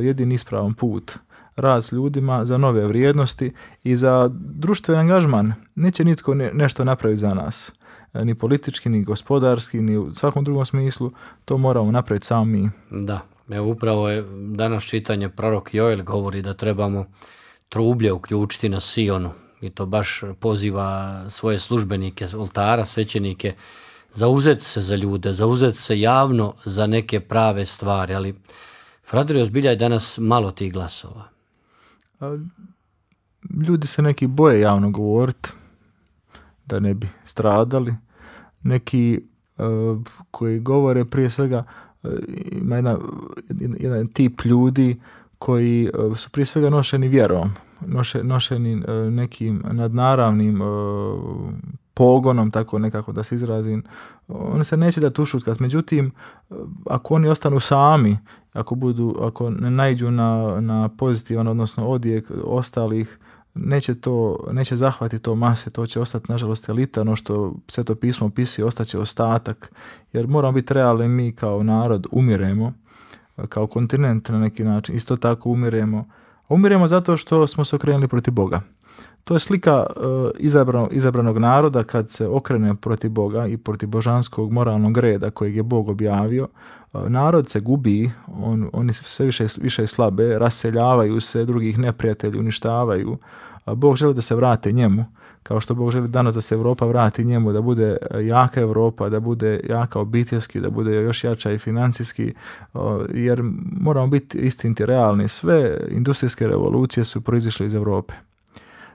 jedini ispravan put. Rad s ljudima za nove vrijednosti i za društveni angažman. Neće nitko nešto napraviti za nas. Ni politički, ni gospodarski, ni u svakom drugom smislu. To moramo napraviti sami mi.
Da, evo upravo je danas čitanje prorok Joel govori da trebamo trublje uključiti na Sionu. I to baš poziva svoje službenike, oltara, svećenike, zauzeti se za ljude, zauzeti se javno za neke prave stvari, ali Fradario, zbilja je danas malo tih glasova.
Ljudi se neki boje javno govoriti da ne bi stradali. Neki koji govore prije svega, ima jedan tip ljudi koji su prije svega nošeni vjerom, nošeni nekim nadnaravnim pogonom, tako nekako da se izrazim. Oni se neće da ušutkat. Međutim, ako oni ostanu sami, ako ne naiđu na pozitivan, odnosno odjek ostalih, neće zahvatiti to mase, to će ostati nažalost elita, ono što Sveto pismo opisuje, ostaće ostatak, jer moramo biti realni, mi kao narod umiremo, kao kontinent na neki način, isto tako umiremo zato što smo se okrenuli protiv Boga. To je slika izabranog naroda kad se okrene protiv Boga i protiv božanskog moralnog reda kojeg je Bog objavio. Narod se gubi, oni sve više slabe, raseljavaju se, drugih neprijatelji uništavaju. Bog želi da se vrate njemu, kao što Bog želi danas da se Europa vrati njemu, da bude jaka Europa, da bude jaka obiteljski, da bude još jača i financijski, jer moramo biti istiniti realni. Sve industrijske revolucije su proizišle iz Europe.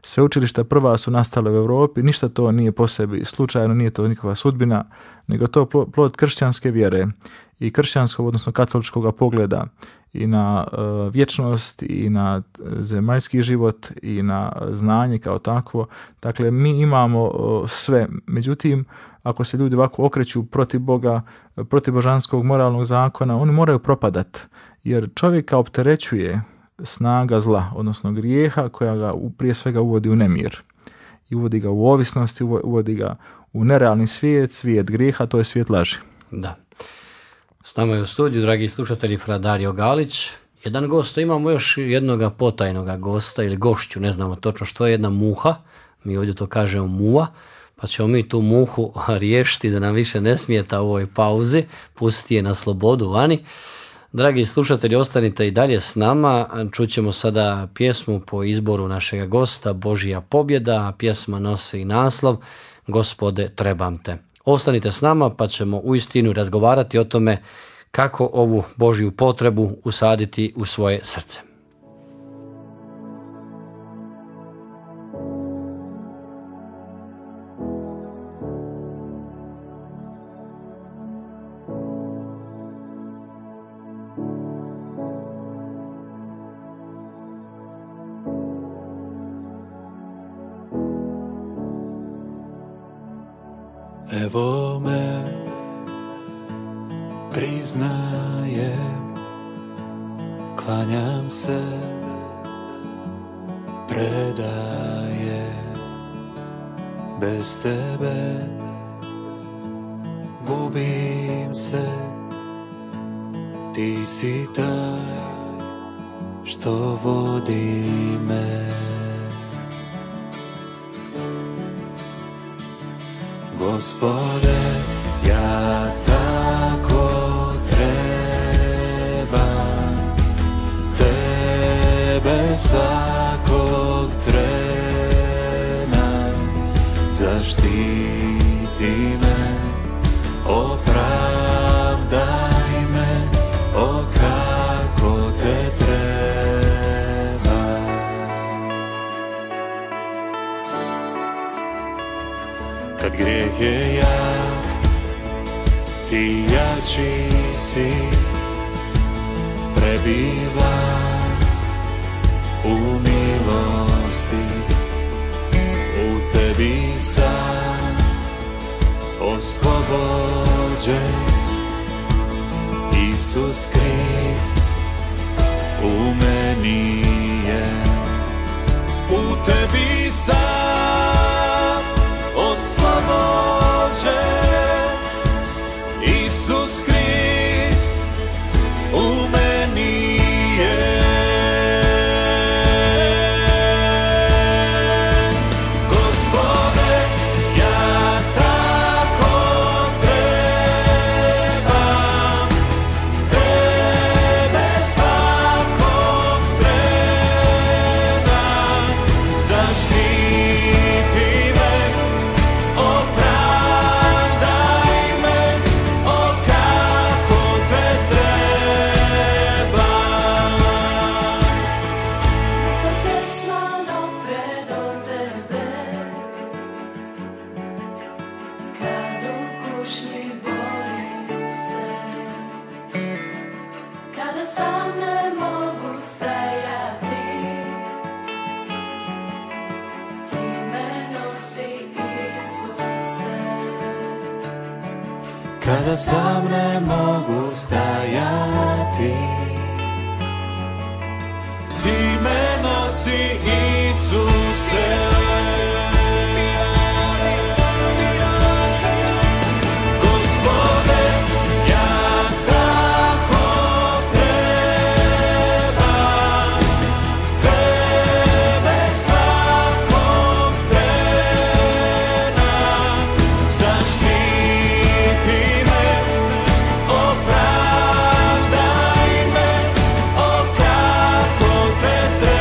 Sveučilišta prva su nastale u Europi, ništa to nije po sebi slučajno, nije to nikakva sudbina, nego to plod kršćanske vjere i kršćanskog, odnosno katoličkog pogleda i na vječnost i na zemaljski život i na znanje kao takvo. Dakle, mi imamo sve. Međutim, ako se ljudi ovako okreću protiv Boga, protiv božanskog moralnog zakona, oni moraju propadati, jer čovjeka opterećuje snaga zla, odnosno grijeha, koja ga prije svega uvodi u nemir. I uvodi ga u ovisnost, uvodi ga u nerealni svijet grijeha, to je svijet laži.
Da. S nama je u studiju, dragi slušatelji, Fradario Galić. jedan gost, imamo još jednoga potajnoga gosta ili gošću, ne znamo točno što je, jedna muha, mi ovdje to kažemo muva, pa ćemo mi tu muhu riješiti da nam više ne smijeta u ovoj pauzi, pustiti je na slobodu vani. Dragi slušatelji, ostanite i dalje s nama, čućemo sada pjesmu po izboru našega gosta, Božja pobjeda, pjesma nosi i naslov Gospode, trebam te. Ostanite s nama pa ćemo uistinu razgovarati o tome kako ovu Božju potrebu usaditi u svoje srce.
Evo me, priznajem, klanjam se, predajem, bez tebe gubim se, ti si taj što vodi me. Gospode, ja tako trebam tebe svakog trena, zaštiti me, opravdaj me, o kako te treba. Kad grijeh je jak, ti jači si, prebivam u milosti, u tebi sam oslobođen. Isus Krist u meni je, u tebi sam oslobođen. Isus Krist u meni je. Gospode, ja tako trebam tebe svakog trena, zaštiti me, opravdaj me, o kako te trebam.
Pesmano predo tebe, kad u kušnji borim se, kada sam ne mogu stajati, ti me nosi, Isuse.
Kada sam ne mogu stajati, ti me nosi, Isuse. Gospode, ja tako trebam tebe svakog trena, zaštiti me, opravdaj me, o kako te trebam.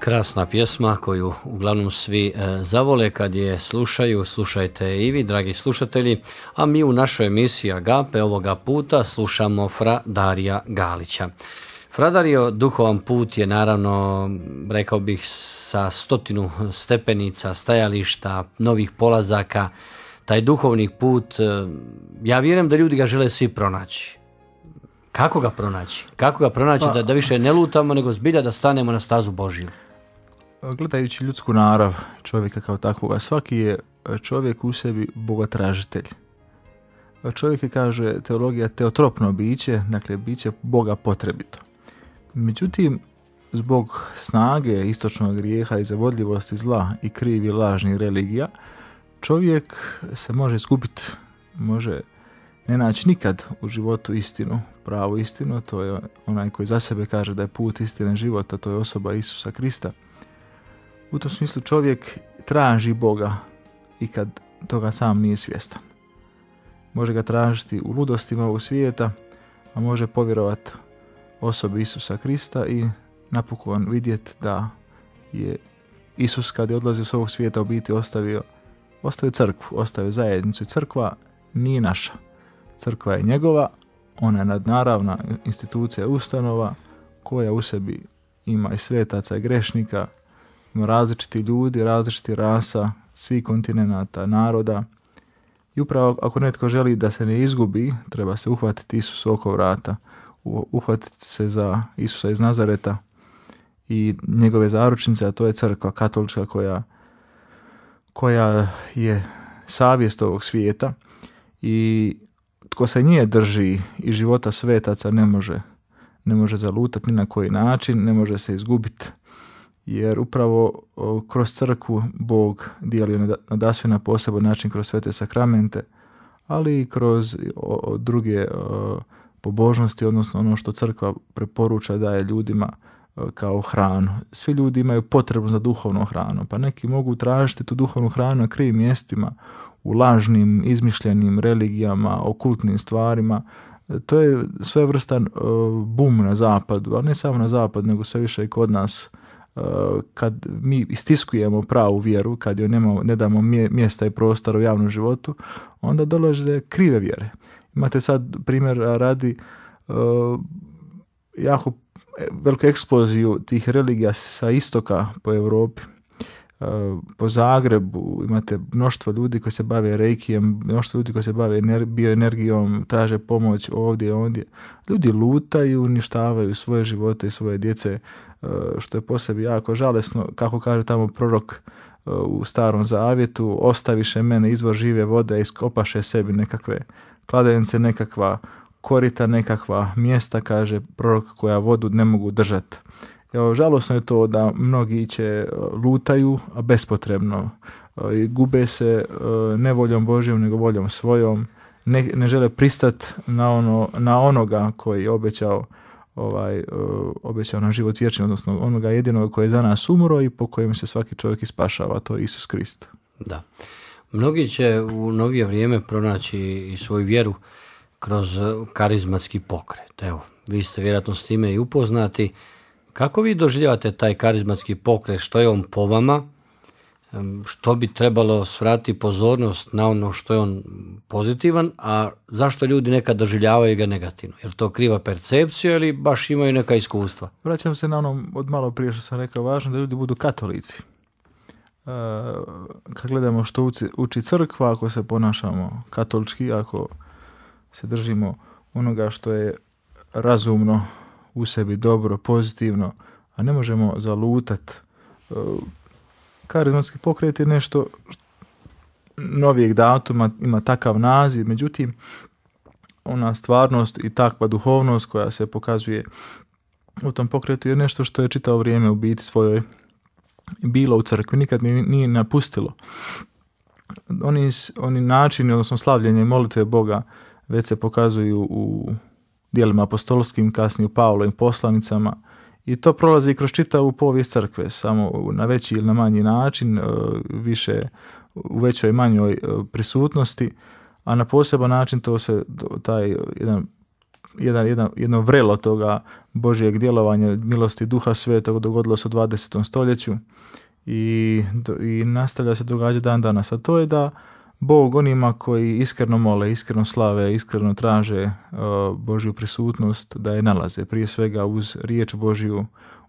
Krasna pjesma koju uglavnom svi zavole kad je slušaju, slušajte i vi, dragi slušatelji, a mi u našoj emisiji Agape ovoga puta slušamo Fra Darija Galića. Fra Dario, duhovan put je naravno, rekao bih, sa 100 stepenica, stajališta, novih polazaka. Taj duhovni put, ja vjerujem da ljudi ga žele svi pronaći. Kako ga pronaći? Kako ga pronaći da više ne lutamo, nego zbilja da stanemo na stazu Božiju?
Gledajući ljudsku narav čovjeka kao takvoga, svaki je čovjek u sebi bogotražitelj. Čovjek je, kaže teologija, teotropno biće, dakle biće Boga potrebito. Međutim, zbog snage istočnog grijeha i zavodljivosti zla i krivi lažnih religija, čovjek se može izgubiti, može ne naći nikad u životu istinu, pravu istinu. To je onaj koji za sebe kaže da je put istine života, to je osoba Isusa Krista. U tom smislu čovjek traži Boga i kad toga sam nije svjestan. Može ga tražiti u ludostima ovog svijeta, a može povjerovati osobi Isusa Krista i napokon vidjeti da je Isus, kad je odlazio s ovog svijeta, u biti ostavio crkvu, ostavio zajednicu. I crkva nije naša. Crkva je njegova, ona je nadnaravna institucija, ustanova koja u sebi ima i svetaca i grešnika, ima različiti ljudi, različiti rasa, svih kontinenata, naroda. I upravo ako netko želi da se ne izgubi, treba se uhvatiti Isusu oko vrata, uhvatiti se za Isusa iz Nazareta i njegove zaručnice, a to je crkva katolička koja je savjest ovog svijeta i tko se nje drži i života svetaca ne može zalutati ni na koji način, ne može se izgubiti, jer upravo kroz crkvu Bog dijeli nadasve na poseban način kroz svete sakramente, ali i kroz druge pobožnosti, odnosno ono što crkva preporuča daje ljudima kao hranu. Svi ljudi imaju potrebu za duhovnom hranom, pa neki mogu tražiti tu duhovnu hranu na krivim mjestima, u lažnim, izmišljenim religijama, okultnim stvarima. To je svevrstan bum na zapadu, ali ne samo na zapadu, nego sve više i kod nas. Kad mi istiskujemo pravu vjeru, kad joj ne damo mjesta i prostora u javnom životu, onda dolaze krive vjere. Imate sad primjer radi jako veliku eksploziju tih religija sa istoka po Europi. Po Zagrebu imate mnoštvo ljudi koji se bave reikijem, mnoštvo ljudi koji se bave bioenergijom, traže pomoć ovdje i ondje. Ljudi lutaju, uništavaju svoje živote i svoje djece, što je po sebi jako žalesno. Kako kaže tamo prorok u Starom Zavjetu, ostaviše mene izvor žive vode, iskopaše sebi nekakve kladenice, nekakva korita, nekakva mjesta, kaže prorok, koja vodu ne mogu držati. Žalosno je to da mnogi će lutaju, a bespotrebno. Gube se ne voljom Božjom, nego voljom svojom. Ne žele pristati na onoga koji je obećao nam život vječni, odnosno onoga jedinog koji je za nas umro i po kojem se svaki čovjek ispašava, to je Isus Krist.
Da. Mnogi će u novije vrijeme pronaći i svoju vjeru kroz karizmatski pokret. Evo, vi ste vjerojatno s time i upoznati. Kako vi doživljavate taj karizmatski pokret? Što je on po vama? Što bi trebalo svratiti pozornost na ono što je on pozitivan, a zašto ljudi nekad doživljavaju ga negativno? Je li to kriva percepcija ili baš imaju neka iskustva?
Vraćam se na ono od malo prije što sam rekao, važno da ljudi budu katolici. Kad gledamo što uči crkva, ako se ponašamo katolički, ako se držimo onoga što je razumno, u sebi dobro, pozitivno, a ne možemo zalutati. Karizmatski pokret je nešto novijeg datuma, ima takav naziv, međutim, ona stvarnost i takva duhovnost koja se pokazuje u tom pokretu je nešto što je čitavo vrijeme u biti svojoj bilo u crkvi, nikad nije napustilo. Oni načini, odnosno slavljenje i molitve Boga već se pokazuju u dijelima apostolskim, kasnije u Pavlovim poslanicama, i to prolazi kroz čitavu povijest crkve, samo na veći ili na manji način, više u većoj i manjoj prisutnosti, a na poseban način taj jedan jedno vrelo toga Božjeg djelovanja, milosti Duha Svetog dogodilo se u 20. stoljeću i nastavlja se događati dan danas. A to je da Bog onima koji iskreno mole, iskreno slave, iskreno traže Božju prisutnost, da je nalaze. Prije svega uz riječ Božju,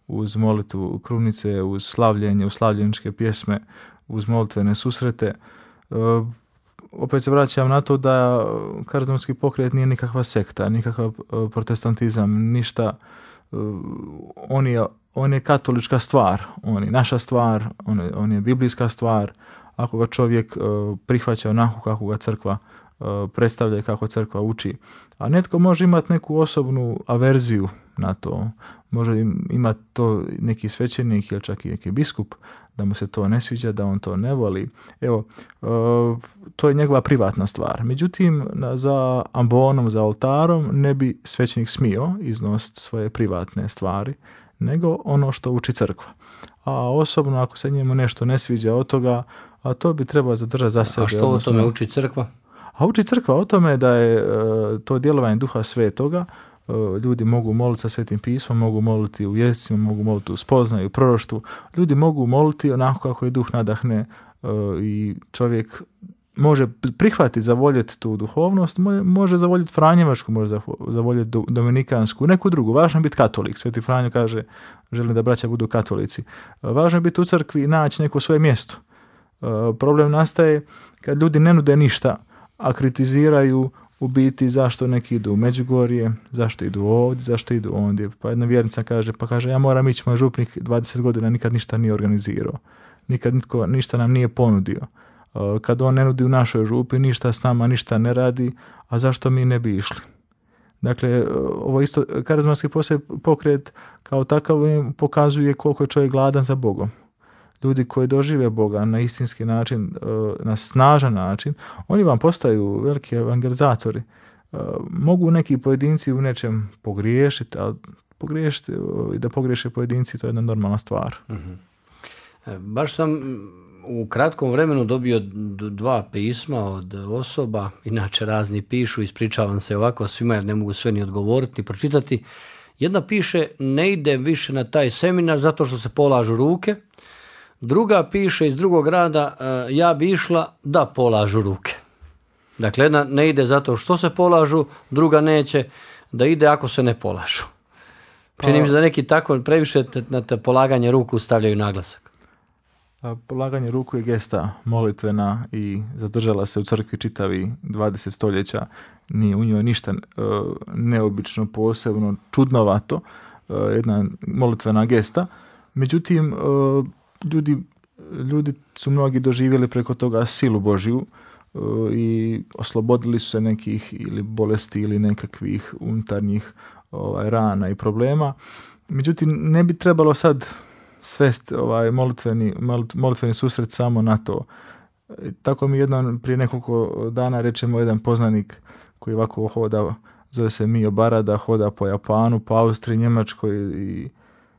uz molitvu krunice, uz slavljenje, uz slavljeničke pjesme, uz molitvene susrete. Opet se vraćam na to da karizmatski pokret nije nikakva sekta, nikakav protestantizam, ništa. On je katolička stvar, on je naša stvar, on je biblijska stvar. Ako ga čovjek prihvaća onako kako ga crkva predstavlja i kako crkva uči. A netko može imati neku osobnu averziju na to. Može imati to neki svećenik ili čak i neki biskup, da mu se to ne sviđa, da on to ne voli. Evo, to je njegova privatna stvar. Međutim, za ambonom, za oltarom ne bi svećenik smio iznositi svoje privatne stvari, nego ono što uči crkva. A osobno, ako se njemu nešto ne sviđa od toga, a to bi trebalo zadržati za sebe.
A što o tome uči crkva?
A uči crkva o tome da je to djelovanje Duha Svetoga. Ljudi mogu moliti sa Svetim pismom, mogu moliti u jezicima, mogu moliti u spoznaju, u proroštvu. Ljudi mogu moliti onako kako je Duh nadahne i čovjek može prihvatiti, zavoljeti tu duhovnost, može zavoljeti Franjevačku, može zavoljeti Dominikansku, neku drugu. Važno je biti katolik. Sveti Franjo kaže, želim da braća budu katolici. Važno je biti u crkvi i naći neko svoje mjesto. Problem nastaje kad ljudi ne nude ništa, a kritiziraju u biti zašto neki idu u Međugorje, zašto idu ovdje, zašto idu ondje. Pa jedna vjernica kaže, ja moram ići, moj župnik 20 godina nikad ništa nije organizirao. Nikad nitko ništa nam nije ponudio. Kad on ne nudi u našoj župi, ništa s nama, ništa ne radi, a zašto mi ne bi išli? Dakle, ovo isto karizmatski pokret kao takav pokazuje koliko je čovjek gladan za Bogom. Ljudi koji dožive Boga na istinski način, na snažan način, oni vam postaju veliki evangelizatori. Mogu neki pojedinci u nečem pogriješiti, ali pogriješiti i da pogriješe pojedinci, to je jedna normalna stvar.
Baš sam u kratkom vremenu dobio 2 pisma od osoba, inače razni pišu, ispričavam se ovako svima jer ne mogu sve ni odgovoriti ni pročitati. Jedna piše, ne ide više na taj seminar zato što se polažu ruke. Druga piše iz drugog grada, ja bi išla da polažu ruke. Dakle, jedna ne ide zato što se polažu, druga neće da ide ako se ne polažu. Čini mi se da neki tako previše na te polaganje ruku stavljaju naglasak.
Polaganje ruku je gesta molitvena i zadržala se u crkvi čitavi 20 stoljeća. Nije u njoj ništa neobično, posebno, čudnovato, jedna molitvena gesta. Međutim, ljudi su mnogi doživjeli preko toga silu Božju i oslobodili su se nekih ili bolesti ili nekakvih unutarnjih rana i problema. Međutim, ne bi trebalo sad svesti molitveni susret samo na to. Tako mi prije nekoliko dana rečemo jedan poznanik koji ovako hoda, zove se Mio Barada, hoda po Japanu, po Austriji, Njemačkoj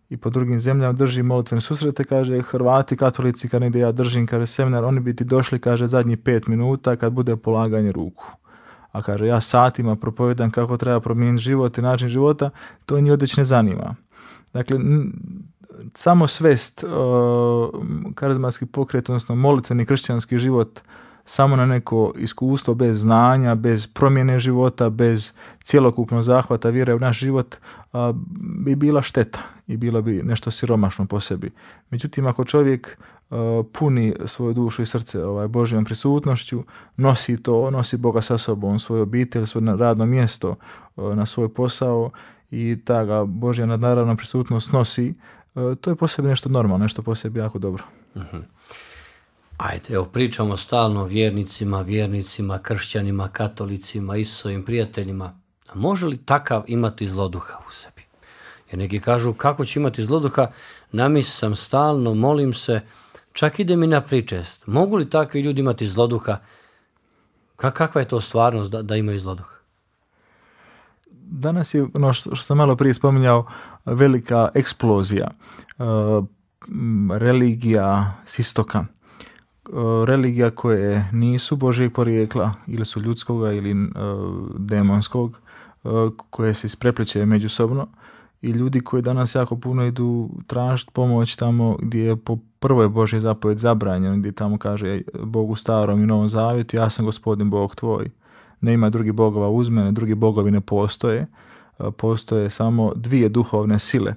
i po drugim zemljama drži molitvene susrete, kaže Hrvati, katolici, kad negdje ja držim, kaže seminar, oni bi ti došli, kaže zadnjih 5 minuta kad bude polaganje ruku. A kaže ja satima propovedam kako treba promijeniti život i način života, to njih odveć ne zanima. Dakle, samo svest karizmatski pokret, odnosno molitveni kršćanski život samo na neko iskustvo bez znanja, bez promjene života, bez cjelokupnog zahvata vjere u naš život bi bila šteta i bilo bi nešto siromašno po sebi. Međutim, ako čovjek puni svoju dušu i srce Božjom prisutnošću, nosi Boga sa sobom, svoju obitelj, svoje radno mjesto, na svoj posao i ta ga Božja nadnaravna prisutnost nosi, to je po sebi nešto normalno, nešto po sebi jako dobro.
Uh-huh. Ajde, evo pričamo stalno o vjernicima, kršćanima, katolicima, Isusovim prijateljima. A može li takav imati zloduha u sebi? Jer neki kažu, kako će imati zloduha? Namis sam stalno, molim se, čak ide mi na pričest. Mogu li takvi ljudi imati zloduha? Kakva je to stvarnost da imaju zloduha?
Danas je, ono što sam malo prije spominjao, velika eksplozija. Religija s istoka. Religija koje nisu Božjeg porijekla ili su ljudskoga ili demonskog, koje se isprepliče međusobno i ljudi koji danas jako puno idu tražiti pomoć tamo gdje je po prvoj Božje zapovjed zabranjeno, gdje tamo kaže Bog u Starom i Novom Zavjetu, ja sam Gospodin Bog tvoj, ne ima drugih bogova uz mene, drugi bogovi ne postoje, postoje samo dvije duhovne sile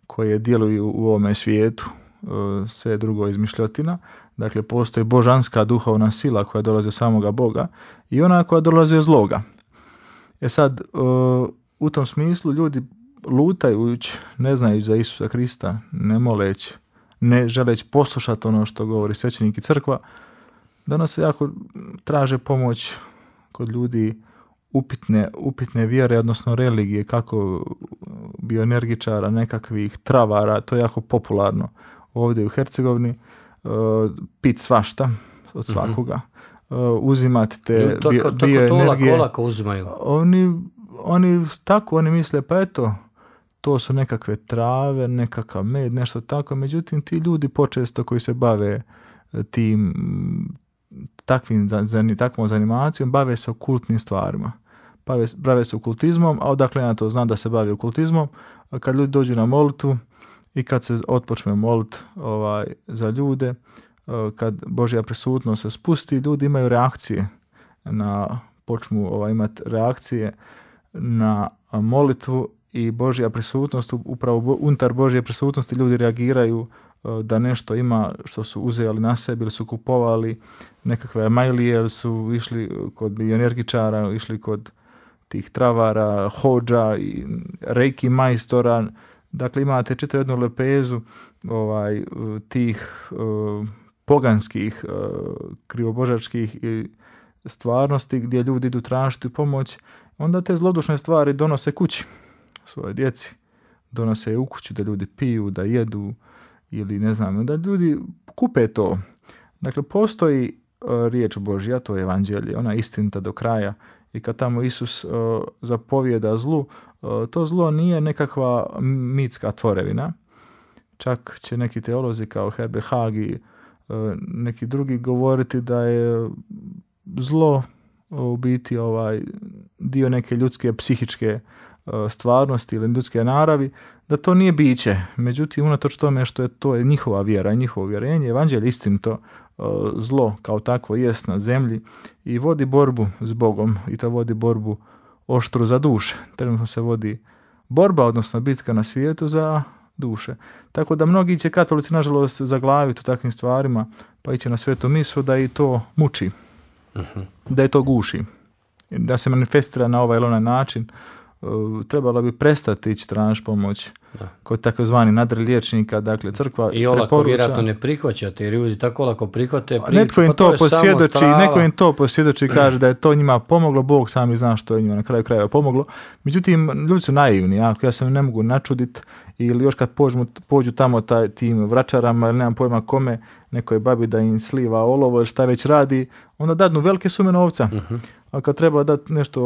koje djeluju u ovome svijetu, sve drugo je izmišljotina. Dakle, postoji božanska duhovna sila koja dolazi od samoga Boga i ona koja dolazi od zloga. Sad, u tom smislu ljudi lutajući, ne znajući za Isusa Krista, ne moleći, ne želeći poslušati ono što govori svećenik i crkva, danas jako traže pomoć kod ljudi upitne vjere, odnosno religije, kako bioenergičara, nekakvih travara, to je jako popularno ovdje u Hercegovini, pit svašta od svakoga, uzimati te bioenergije.
To lako uzimaju.
Oni misle, pa eto, to su nekakve trave, nekakav med, nešto tako, međutim ti ljudi počesto koji se bave takvom zanimacijom, bave se okultnim stvarima. Bave se okultizmom, a odakle ja to znam da se bavi okultizmom, kad ljudi dođu na molitvu i kad se otpočne moliti za ljude, kad Božja prisutnost se spusti, ljudi imaju reakcije počnu imati reakcije na molitvu i Božja prisutnost, upravo unutar Božje prisutnosti ljudi reagiraju da nešto ima što su uzeli na sebi ili su kupovali nekakve majlije ili su išli kod bioenergičara, išli kod tih travara, hođa i reiki majstora. Dakle, imate čitavu jednu lepezu tih poganskih, krivobožačkih stvarnosti gdje ljudi idu tražiti pomoć. Onda te zlodušne stvari donose kući svoje djeci. Donose je u kuću da ljudi piju, da jedu ili ne znam, da ljudi kupe to. Dakle, postoji riječ Božja, to je evanđelje, ona je istinita do kraja i kad tamo Isus zapovijeda zlu, to zlo nije nekakva mitska tvorevina. Čak će neki teolozi kao Herbert Haag i neki drugi govoriti da je zlo u biti dio neke ljudske psihičke stvarnosti ili ljudske naravi, da to nije biće. Međutim, unatoč tome što to je njihova vjera i njihovo uvjerenje, evanđelje istinito, zlo kao takvo jest na zemlji i vodi borbu s Bogom i to vodi borbu oštru za duše. Trenutno se vodi borba, odnosno bitka na svijetu za duše. Tako da mnogi će katolici, nažalost, zaglaviti u takvim stvarima, pa iće na svetu misu da i to muči, da je to guši, da se manifestira na ovaj ili onaj način. Trebalo bi prestati ići tražiti pomoć kod takozvani nadriliječnika, dakle crkva
i olako vjerojatno ne prihvaćate, jer ljudi tako lako prihvate priču,
netko im to posvjedoči i kaže da je to njima pomoglo, Bog sami zna što je njima na kraju krajeva pomoglo. Međutim, ljudi su naivni, ako ja se ne mogu načuditi ili još kad pođu tamo tim vračarama ili nemam pojma kome, nekoj babi da im sliva olovo ili šta već radi, onda dadnu velike sume novca. A kad treba dati nešto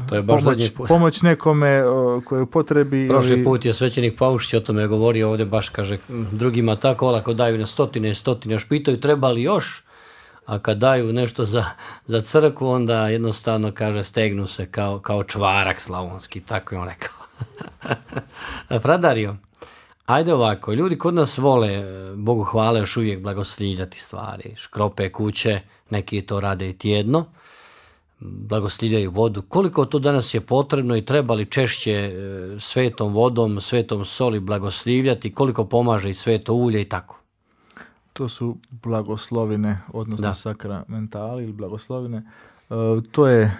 to je baš
pomoć nekome koji u potrebi.
Prošli put je svećenik Paušić o tome govorio ovdje, baš kaže drugima tako olako daju na stotine i stotine, još pitaju treba li još, a kad daju nešto za crkvu onda jednostavno kaže stegnu se kao čvarak slavonski, tako je on rekao. Fradario, ajde ovako, ljudi kod nas vole, Bogu hvala, još uvijek blagoslivljati stvari, škrope kuće, neki to rade i tjedno, blagoslivljaju vodu. Koliko to danas je potrebno i treba li češće svetom vodom, svetom soli blagoslivljati, koliko pomaže i sveto ulje i tako?
To su blagoslovine, odnosno sakramentali ili blagoslovine. To je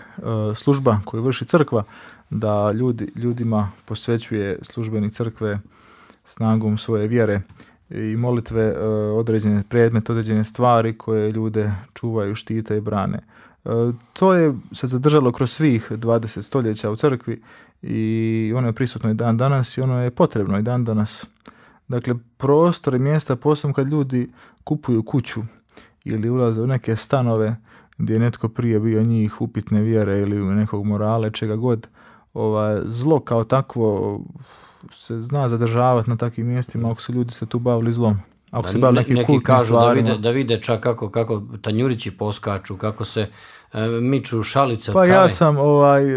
služba koju vrši crkva, da ljudima posvećuje službenik crkve snagom svoje vjere i molitve određene predmete, određene stvari koje ljude čuvaju, štite i brane. To je se zadržalo kroz svih 20 stoljeća u crkvi i ono je prisutno i dan danas i ono je potrebno i dan danas. Dakle, prostor i mjesta, posebno kad ljudi kupuju kuću ili ulaze u neke stanove gdje je netko prije bio njih upitne vjere ili nekog morale, čega god, zlo kao takvo se zna zadržavati na takvim mjestima ako su ljudi se tu bavili zlom. Ako se bavi nekim
neki
kultnim
kažu
stvarima.
da vide čak kako tanjurići poskaču, kako se miču šalice od
Pa
kave.
ja sam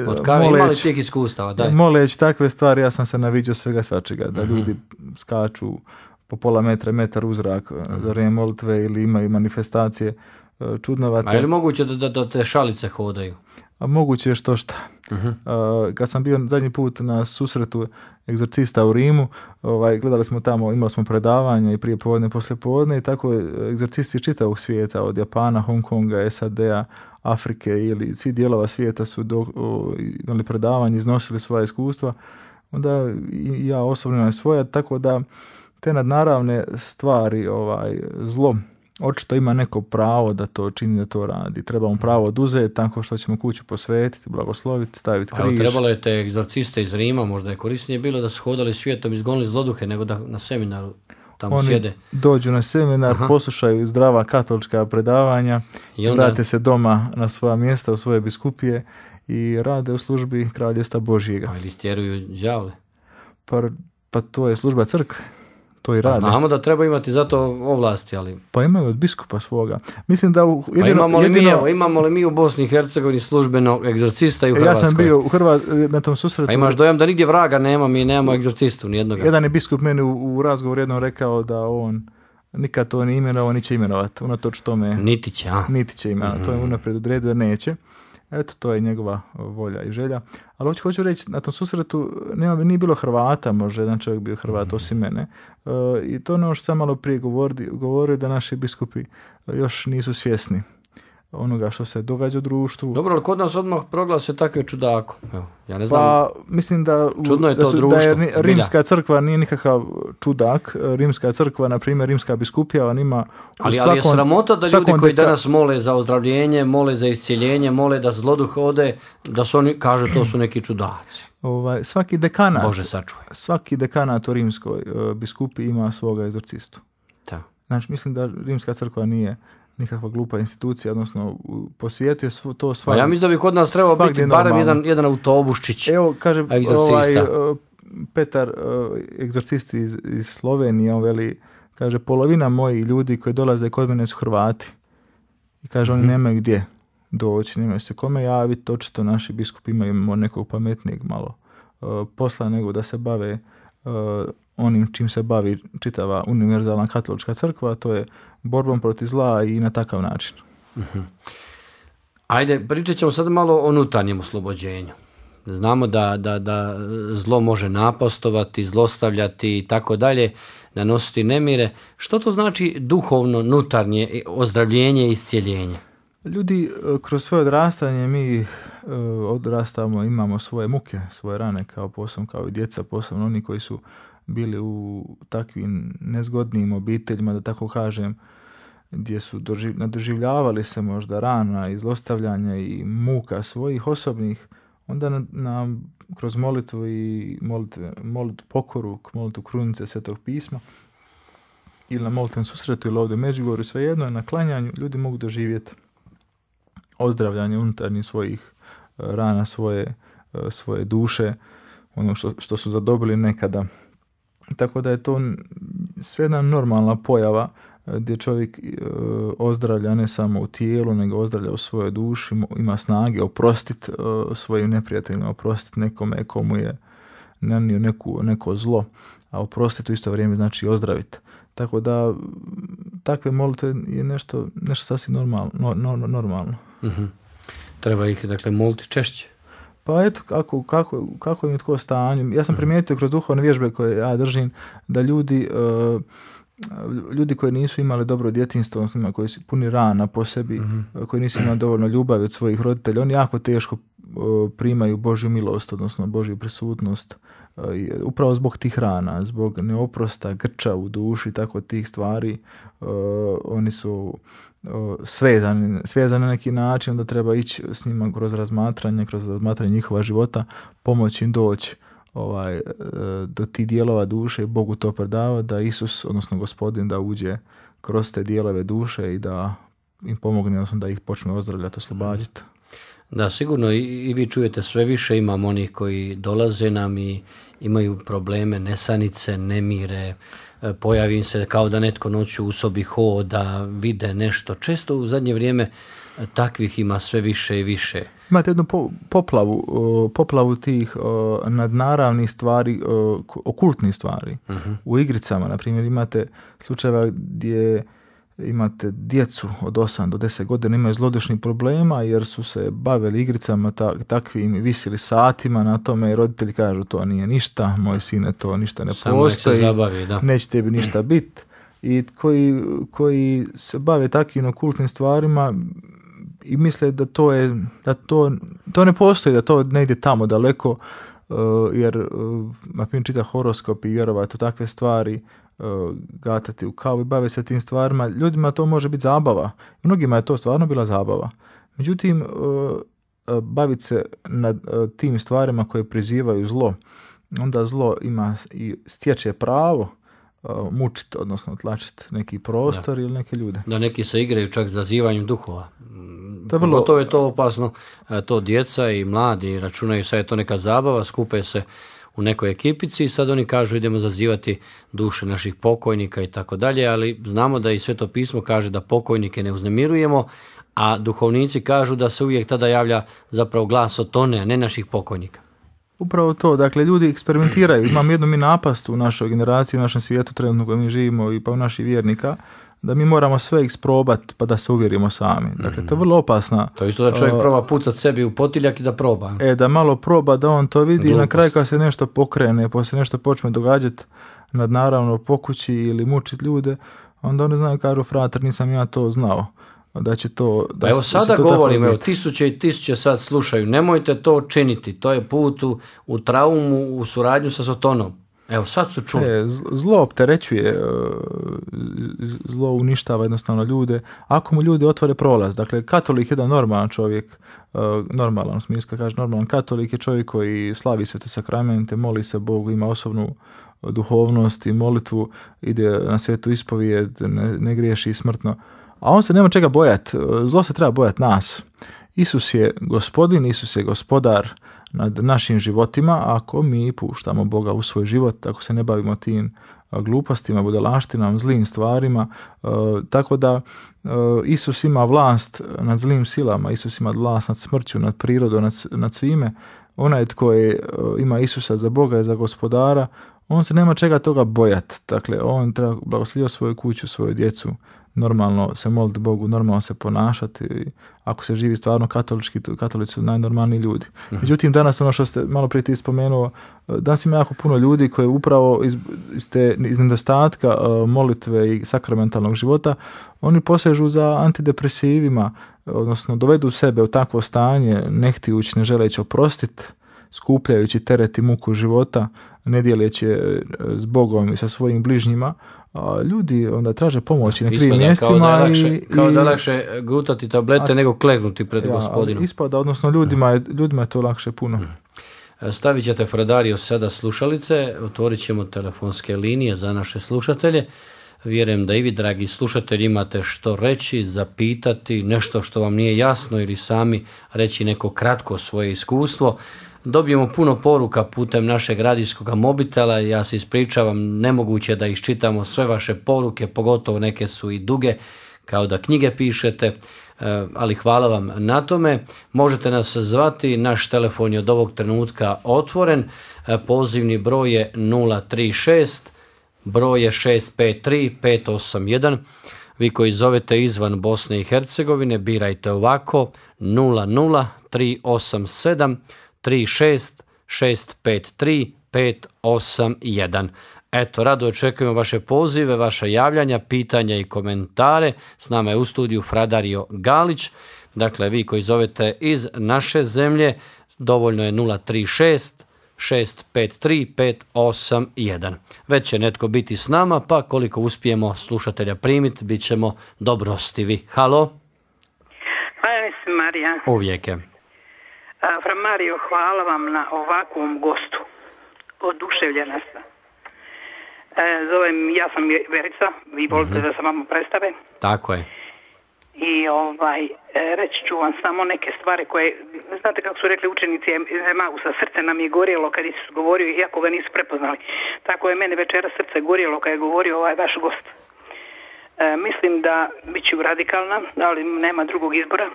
Od kave imali tih iskustava, daj.
moleći takve stvari, ja sam se naviđao svega svačega, da ljudi skaču po pola metra, metar u zrak za vrijeme molitve ili imaju manifestacije čudnovate.
A je li moguće da te šalice hodaju?
A moguće je što šta. Kad sam bio zadnji put na susretu egzorcista u Rimu, gledali smo tamo, imali smo predavanja i prije podne i poslije podne i tako egzorcisti iz čitavog svijeta, od Japana, Hong Konga, SAD-a, Afrike ili svih dijelova svijeta su imali predavanje, iznosili svoja iskustva. Onda i ja osobno imam svoja, tako da te nadnaravne stvari, zlo, očito ima neko pravo da to čini, da to radi. Treba mu pravo oduzeti tako što ćemo kuću posvetiti, blagosloviti, staviti
Ali
križ.
trebalo je te egzorciste iz Rima, možda je korisnije bilo da su hodali svijetom, izgonili zloduhe, nego da na seminaru tamo
Oni
sjede.
dođu na seminar, poslušaju zdrava katolička predavanja,
I onda-
vrate se doma na svoja mjesta, u svoje biskupije i rade u službi kraljevstva Božjega.
Pa ili stjeruju đavle.
Pa to je služba crkve. To i
Pa
rade.
znamo da treba imati za to ovlasti, ali...
Pa imaju od biskupa svoga. Mislim da
Pa imamo li mi u Bosni i Hercegovini službenog egzorcista i u Hrvatskoj?
Ja sam bio na tom susretu.
Pa imaš dojam da nigdje vraga nema, mi nemamo egzorcistu nijednoga.
Jedan je biskup meni u razgovoru jednom rekao da on nikad to ni imenovao, ni će imenovati. Unatoč tome
Niti će, a?
niti će imenovati. To je unaprijed odredio da neće. Eto, to je njegova volja i želja. Ali hoću reći, na tom susretu nije bilo Hrvata, možda jedan čovjek bio Hrvat osim mene. I to je ono što sam malo prije govorio da naši biskupi još nisu svjesni onoga što se događa u društvu.
Dobro, ali kod nas odmah proglase takve čudako. Evo, ja ne znam.
Pa mislim da
Čudno je to
da
društvo,
je
zbilja.
Rimska crkva nije nikakav čudak. Rimska crkva, na primjer, Rimska biskupija, on ima
Ali je sramota da ljudi
svakom
koji danas mole za ozdravljenje, mole za iscjeljenje, mole da zloduh ode, da su oni kažu to su neki čudaci.
svaki dekanat,
Bože sačuvaj.
svaki dekanat u rimskoj biskupi ima svoga egzorcistu.
Da.
Znači, mislim da Rimska crkva nije nikakva glupa institucija, odnosno po svijetu je to
Pa
svakdje.
ja mislim da bi kod nas trebao biti
svagdje
barem
normalno.
jedan autobuščić.
Evo, kaže
egzorcista.
Petar, egzorcist iz Slovenije, on veli, kaže, polovina mojih ljudi koji dolaze kod mene su Hrvati. I kaže, oni nemaju gdje doći, nemaju se kome javiti, očito naši biskupi imaju nekog pametnijeg malo posla nego da se bave onim čim se bavi čitava univerzalna katolička crkva, a to je borbom protiv zla i na takav način.
Ajde, pričat ćemo sad malo o unutarnjem oslobođenju. Znamo da zlo može napastovati, zlostavljati i tako dalje, nanositi nemire. Što to znači duhovno, unutarnje ozdravljenje i iscijeljenje?
Ljudi, kroz svoje odrastanje mi odrastamo, imamo svoje muke, svoje rane kao i djeca, posebno oni koji su bili u takvim nezgodnim obiteljima, da tako kažem, gdje su nadoživljavali se možda rana i zlostavljanja i muka svojih osobnih, onda kroz molitvu i molitvu pokoru, molitvu krunice Svetog pisma ili na molitvenom susretu ili ovdje u Međugorju, svejedno je na klanjanju, ljudi mogu doživjeti ozdravljanje unutarnjih svojih rana, svoje duše, ono što su zadobili nekada. Tako da je to sve jedna normalna pojava gdje čovjek ozdravlja ne samo u tijelu, nego ozdravlja u svojoj duši, ima snage oprostiti svojim neprijateljima, oprostiti nekome komu je nanio neko zlo, a oprostiti u isto vrijeme znači ozdraviti. Tako da takve molitve je nešto sasvim normalno.
Treba ih, dakle, moliti češće.
Pa eto, kako im je tko stanju. Ja sam primijetio kroz duhovne vježbe koje ja držim, da ljudi koji nisu imali dobro djetinjstvo, odnosno koji su puni rana po sebi, koji nisu imali dovoljno ljubavi od svojih roditelja, oni jako teško primaju Božju milost, odnosno Božju prisutnost. Upravo zbog tih rana, zbog neoprosta, grča u duši, tako tih stvari, oni su svezani na neki način, da treba ići s njima kroz razmatranje njihova života, pomoći im doći do tih dijelova duše i Bogu to predava, da Isus, odnosno Gospodin, da uđe kroz te dijelove duše i da im pomogne, odnosno da ih počne ozdravljati, oslobađati.
Da, sigurno i vi čujete sve više, imamo onih koji dolaze nam i imaju probleme, nesanice, nemire, pojavi im se kao da netko noću u sobi hoda, vide nešto. Često u zadnje vrijeme takvih ima sve više i više.
Imate jednu poplavu tih nadnaravnih stvari, okultnih stvari. U igricama, na primjer, imate slučajeva gdje imate djecu od 8 do 10 godina imaju zlodušnih problema jer su se bavili igricama takvim, visili satima na tome i roditelji kažu to nije ništa, moj sine to ništa ne
Samo nek se
postoji,
zabavi, da.
neće tebi ništa biti. I koji se bave takvim okultnim stvarima i misle da to ne postoji, da to ne ide tamo daleko, jer na primjer čita horoskop i vjerovati u takve stvari, gatati u kavu i bave se tim stvarima. Ljudima to može biti zabava. Mnogima je to stvarno bila zabava. Međutim, baviti se nad tim stvarima koje prizivaju zlo, onda zlo ima i stječe pravo mučiti, odnosno tlačiti neki prostor ili neke ljude.
Da neki se igraju čak zazivanjem duhova.
To
To je to opasno. To djeca i mladi računaju sad je to neka zabava, skupe se u nekoj ekipici i sad oni kažu idemo zazivati duše naših pokojnika i tako dalje, ali znamo da i Sveto pismo kaže da pokojnike ne uznemirujemo, a duhovnici kažu da se uvijek tada javlja zapravo glas od tone, a ne naših pokojnika.
Upravo to, dakle ljudi eksperimentiraju. Imamo jednu mi napast u našoj generaciji, u našem svijetu trenutno u kojem mi živimo i pa u naših vjernika, da mi moramo sve isprobati pa da se uvjerimo sami. Dakle, to je vrlo opasna.
To je isto da čovjek proba pucat sebi u potiljak i da proba.
Da malo proba, da on to vidi i na
Glupost.
kraju kad se nešto pokrene, pa se nešto počne događati nadnaravno po kući ili mučiti ljude, onda oni znaju, kažu, frater, nisam ja to znao. Da će to... Da,
Pa evo
da će
sada
to tako
govorim, evo
biti.
tisuće i tisuće sad slušaju, nemojte to činiti, to je put u traumu, u suradnju sa Sotonom. Evo sad su čuli.
Zlo opterećuje, zlo uništava jednostavno ljude. Ako mu ljudi otvore prolaz, dakle katolik je jedan normalan čovjek, normalan u smislu, kaže normalan katolik je čovjek koji slavi svete sakramente, moli se Bogu, ima osobnu duhovnost i molitvu, ide na svetu ispovijed, ne griješi smrtno. A on se nema čega bojati, zlo se treba bojati nas. Isus je gospodin, Isus je gospodar nad našim životima, ako mi puštamo Boga u svoj život, ako se ne bavimo tim glupostima, budalaštinama, zlim stvarima, tako da Isus ima vlast nad zlim silama, Isus ima vlast nad smrću, nad prirodom, nad svime. Onaj tko ima Isusa za Boga i za gospodara, on se nema čega toga bojati. Dakle, on treba blagosloviti svoju kuću, svoju djecu, normalno se moliti Bogu, normalno se ponašati. Ako se živi stvarno katolički, katolici su najnormalniji ljudi. Međutim, danas ono što ste malo prije ti spomenuo, danas ima jako puno ljudi koji upravo iz nedostatka molitve i sakramentalnog života, oni posežu za antidepresivima, odnosno dovedu sebe u takvo stanje, ne htijući, ne želeći oprostiti, skupljajući teret i muku života, ne dijeleći s Bogom i sa svojim bližnjima. Ljudi onda traže pomoći na krivim mjestima.
Kao da je lakše gutati tablete nego klegnuti pred gospodinom.
Ispada, odnosno ljudima je to lakše puno.
Stavit ćete, Fradario, sada slušalice, otvorit ćemo telefonske linije za naše slušatelje. Vjerujem da i vi, dragi slušatelji, imate što reći, zapitati, nešto što vam nije jasno ili sami reći neko kratko svoje iskustvo. Dobijemo puno poruka putem našeg radijskog mobitela, ja se ispričavam, nemoguće da iščitamo sve vaše poruke, pogotovo neke su i duge, kao da knjige pišete, ali hvala vam na tome. Možete nas zvati, naš telefon je od ovog trenutka otvoren, pozivni broj je 036, broj je 653 581. Vi koji zovete izvan Bosne i Hercegovine, birajte ovako 00387 36 653 581. Eto, rado očekujemo vaše pozive, vaša javljanja, pitanja i komentare. S nama je u studiju Fradario Galić. Dakle, vi koji zovete iz naše zemlje, dovoljno je 036 653 581. Već će netko biti s nama, pa koliko uspijemo slušatelja primiti, bit ćemo dobrostivi. Halo?
Hvala mi se, Marija.
Uvijek je.
Fra Mario, hvala vam na ovakvom gostu. Oduševljena sam. Ja sam Verica, vi volite da se vama predstave.
Tako je.
i reći ću vam samo neke stvari koje, znate kako su rekli učenici Emausa, srce nam je gorjelo kad Isus govorio, iako ga nisu prepoznali. Tako je mene večera srce gorjelo kad je govorio ovaj vaš gost. Mislim da bit ću radikalna, ali nema drugog izbora.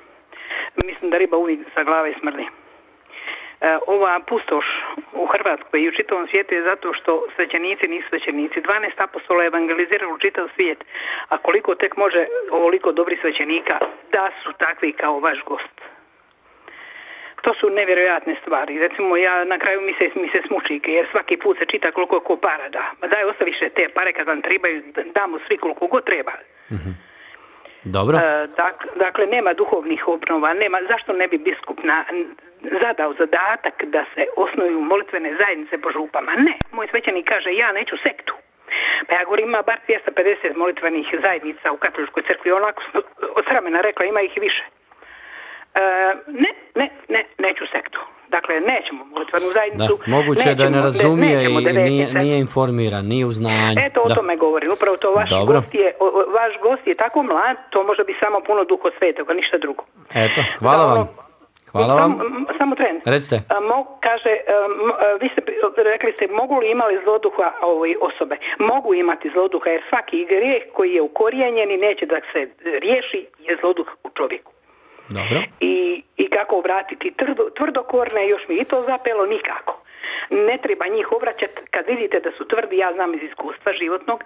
Mislim da riba uvijek sa glave smrdi. Ova pustoš u Hrvatskoj i u čitavom svijetu je zato što svećenici nisu svećenici. 12 apostola je evangeliziralo čitav svijet, a koliko tek može ovoliko dobrih svećenika da su takvi kao vaš gost. To su nevjerojatne stvari. Recimo, ja na kraju mi se smuči, jer svaki put se čita koliko ko para da. Ma daj, ostaviše te pare kad vam trebaju, damo svi koliko god treba.
Mhm. Dobro.
Dakle, nema duhovnih obnova, zašto ne bi biskup zadao zadatak da se osnuju molitvene zajednice po župama? Ne, moj svećenik kaže ja neću sektu. Pa ja govorim ima bar 250 molitvenih zajednica u katoličkoj crkvi, onako od sramena rekla ima ih i više. Neću sektu. Dakle, nećemo molitvenu zajednicu.
Da, moguće je da ne razumije i nije informiran, nije u znanju.
Eto, o tome govorim. Upravo to vaš gost je tako mlad, to može biti samo puno Duha Svetoga, ništa drugo.
Eto, hvala vam. Hvala vam.
Samo tren.
Recite.
Kaže, vi ste rekli ste, mogu li imali zloduha osobe? Mogu imati zloduha, jer svaki grijeh koji je ukorijenjen i neće da se riješi je zloduh u čovjeku.
Dobro.
I kako vratiti tvrdokorne, još mi i to zapelo, nikako. Ne treba njih obraćati, kad vidite da su tvrdi, ja znam iz iskustva životnog,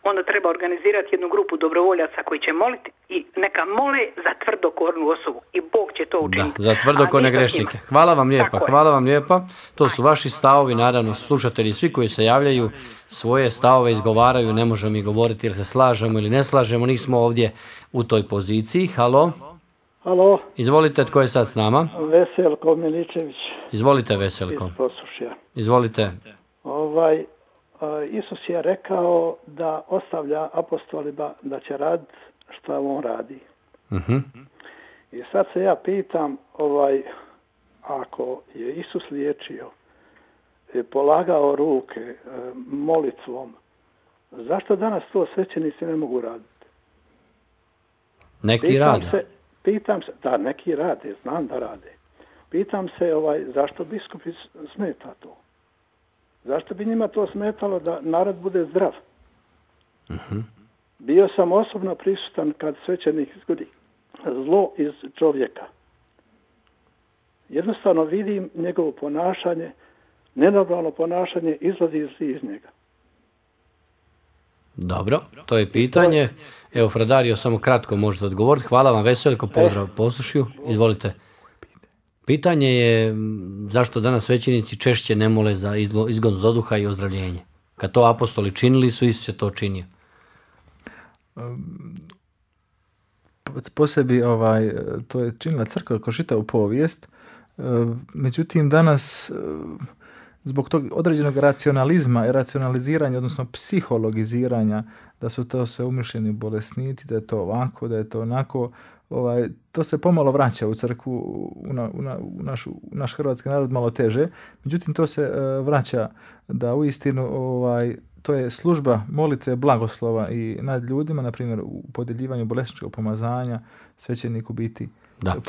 onda treba organizirati jednu grupu dobrovoljaca koji će moliti i neka mole za tvrdokornu osobu i Bog će to učiniti.
Da, za tvrdokorne grešnike. Hvala vam lijepa. To su vaši stavovi, naravno slušatelji, svi koji se javljaju svoje stavove izgovaraju, ne možemo mi govoriti jer se slažemo ili ne slažemo, nismo ovdje u toj poziciji. Halo?
Halo.
Izvolite, tko je sad s nama?
Veselko Miličević.
Izvolite, Veselko.
Iz Posušja.
Izvolite.
Isus je rekao da ostavlja apostolima da će raditi šta on radi.
Uh-huh.
I sad se ja pitam, ako je Isus liječio, polagao ruke molitvom, zašto danas to svećenici ne mogu raditi?
Neki rade.
Pitam se, da, neki rade, znam da rade. Pitam se zašto biskupi smeta to? Zašto bi njima to smetalo da narod bude zdrav?
Uh-huh.
Bio sam osobno prisutan kad svećenik izgodi zlo iz čovjeka. Jednostavno vidim njegovo ponašanje, nenormalno ponašanje izlazi iz njega.
Dobro, to je pitanje. Evo, Fradario, samo kratko možete odgovoriti. Hvala vam, Veseljko, pozdrav Posušju. Izvolite. Pitanje je zašto danas svećenici češće ne mole za izgon zloduha i ozdravljenje. Kad to apostoli činili su, Isus je to činio.
Po sebi to je činila crkva kroz čitavu povijest. Međutim, danas zbog tog određenog racionalizma i racionaliziranja, odnosno psihologiziranja, da su to sve umišljeni bolesnici, da je to ovako, da je to onako, to se pomalo vraća u crkvu, u naš hrvatski narod malo teže. Međutim, to se vraća da uistinu to je služba molitve blagoslova i nad ljudima, na primjer u podjeljivanju bolesničkog pomazanja, svećenik u biti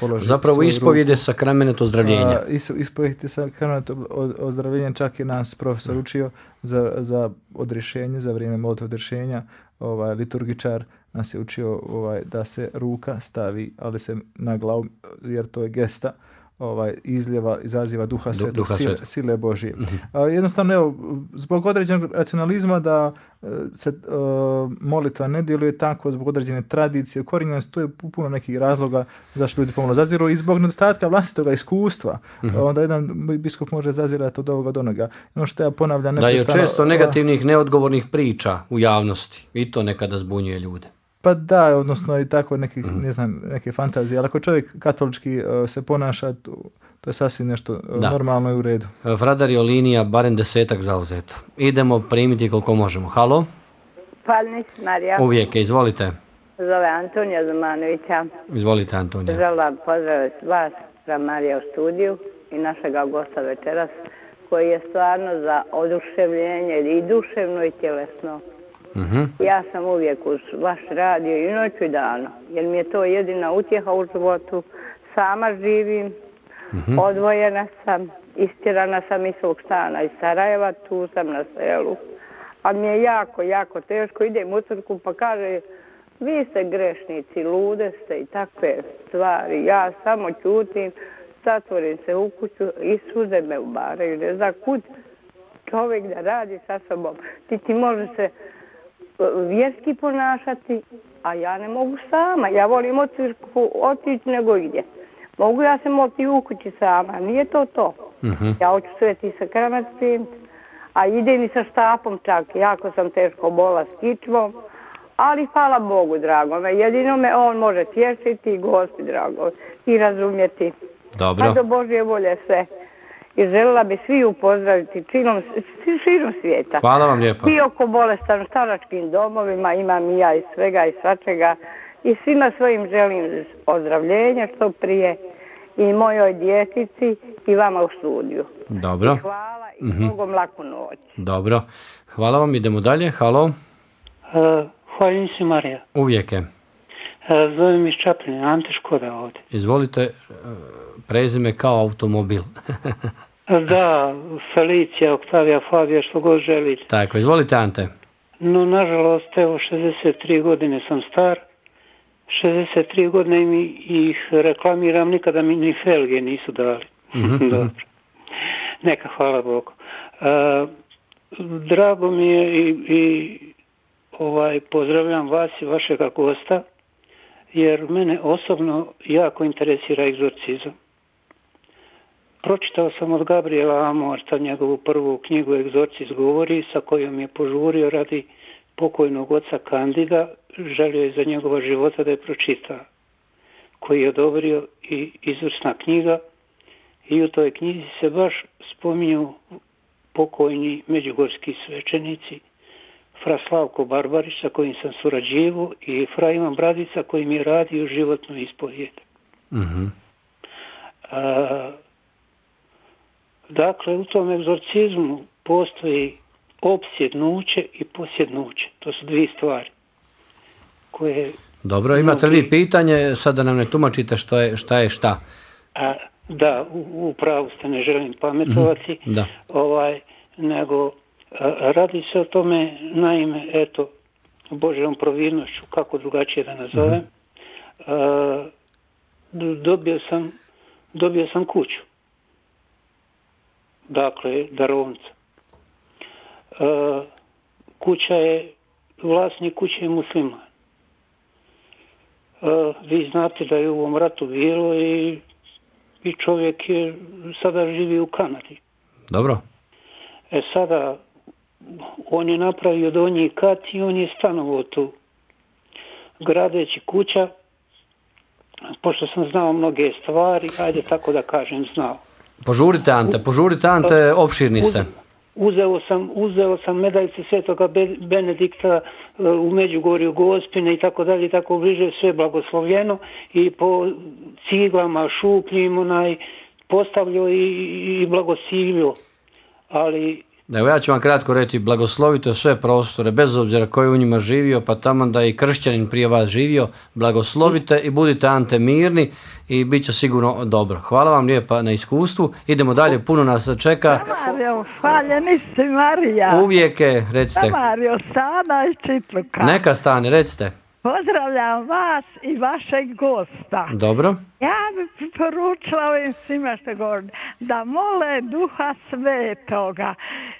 položi.
Zapravo ispovijed je sakrament ozdravljenja.
Ispovijed je sakrament ozdravljenja, čak je nas profesor učio za odrješenje, za vrijeme molitve odrješenja, liturgičar nas je učio da se ruka stavi, ali se na glavu, jer to je gesta, izaziva duha svetog, sile Božije. Jednostavno, evo, zbog određenog racionalizma da se molitva ne djeluje tako, zbog određene tradicije, ukorijenjenosti, to je puno nekih razloga zašto ljudi pomalo zaziru i zbog nedostatka vlastitoga iskustva. Onda jedan biskup može zazirati od ovoga do onoga. Ono što ja ponavljam
neprestano. Da je često negativnih, neodgovornih priča u javnosti i to nekada zbunjuje ljude.
Pa da, odnosno i tako neke fantazije, ali ako čovjek katolički se ponaša, to je sasvim nešto normalno i u redu.
Fradario linija, barem 10 zauzeto. Idemo primiti koliko možemo. Halo?
Palnić, Marija.
Uvijek, izvolite.
Zove Antonija Zumanovića.
Izvolite, Antonija.
Želim pozdraviti vas, Marija, u studiju i našega gosta večeras, koji je stvarno za oduševljenje i duševno i tjelesno. Ja sam uvijek uz vaš radio i noću i dano, jer mi je to jedina utjeha u životu. Sama živim, odvojena sam, istjerana sam iz svog stana iz Sarajeva, tu sam na selu. A mi je jako, jako teško, idem u crkvu pa kaže, vi ste grešnici, lude ste i takve stvari. Ja samo ćutim, zatvorim se u kuću i suze me ubaraju. Ne znam kud čovjek da radi sa sobom. Ti može se vjerski ponašati, a ja ne mogu sama. Ja volim u crkvu otići nego gdje. Mogu ja se moliti u kući sama, nije to to. Ja hoću Sveti sakrament primiti, a idem i sa štapom čak. Jako sam teško bola s kičmom, ali hvala Bogu, dragome. Jedino me on može tješiti i gosti, drago, i razumjeti.
Dobro.
Pa do Božje volje sve. I željela bi svi upozdraviti širom svijeta.
Hvala vam lijepo.
I oko bolestan staračkim domovima, imam i ja i svega i svačega. I svima svojim želim ozdravljenja što prije. I mojoj djecici i vama u studiju.
Dobro.
I hvala i Bogom laku noć.
Dobro. Hvala vam, idemo dalje. Halo.
Hvala se, Marija.
Uvijek je.
Zovem iz Čapljine, Ante Škoda ovdje.
Izvolite, prezime kao automobil.
Da, Felicija, Oktavija, Fabija, što god želite.
Tako, izvolite Ante.
No, nažalost, evo, 63 godine sam star. 63 godine ih reklamiram, nikada mi ni felge nisu dali. Dobro. Neka, hvala Bogu. Drago mi je i pozdravljam vas i vašega gosta, jer mene osobno jako interesira egzorcizam. Pročitao sam od Gabriela Amorta njegovu prvu knjigu Egzorcist govori, sa kojom je požurio radi pokojnog oca Kandida, želio je za njegova života da je pročita, koji je odobrio i izvrsna knjiga, i u toj knjizi se baš spominju pokojni međugorski svećenici, fra Slavko Barbarić sa kojim sam surađivao i fra Ivan Bradica koji mi je radio životnu ispovijed. Dakle, u tom egzorcizmu postoji opsjednuće i posjednuće. To su dvije stvari koje...
Dobro, imate li pitanje? Sad da nam ne tumačite šta je šta.
Da, u pravu ste, ne želim pametovati.
Da.
Nego radi se o tome, naime, eto, Božjom providnošću, kako drugačije da nazovem, dobio sam kuću. Dakle, darovnica. Vlasnik kuće je musliman. Vi znate da je u ovom ratu bilo i čovjek je sada živi u Kanadi.
Dobro.
Sada on je napravio donji kat i on je stanovao tu. Gradeći kuća, pošto sam znao mnoge stvari, ajde tako da kažem, znao.
Požurite Ante, opširni ste.
Uzeo sam medaljce Svetoga Benedikta u Međugorju, Gospine i tako dalje, tako bliže, sve blagoslovljeno i po ciglama, šupljim postavljao i blagosilio. Ali...
Evo ja ću vam kratko reći, blagoslovite sve prostore, bez obzira ko je u njima živio, pa tamo da je i kršćanin prije vas živio, blagoslovite i budite Ante mirni i bit će sigurno dobro. Hvala vam lijepa na iskustvu, idemo dalje, puno nas čeka.
Mario, hvaljeni si Marija.
Uvijek je, recite.
Mario, Stana iz Čitluka.
Neka Stane, recite.
Pozdravljam vas i vašeg gosta.
Dobro.
Ja bih poručila ovim svima što govorim da mole Duha Svetoga,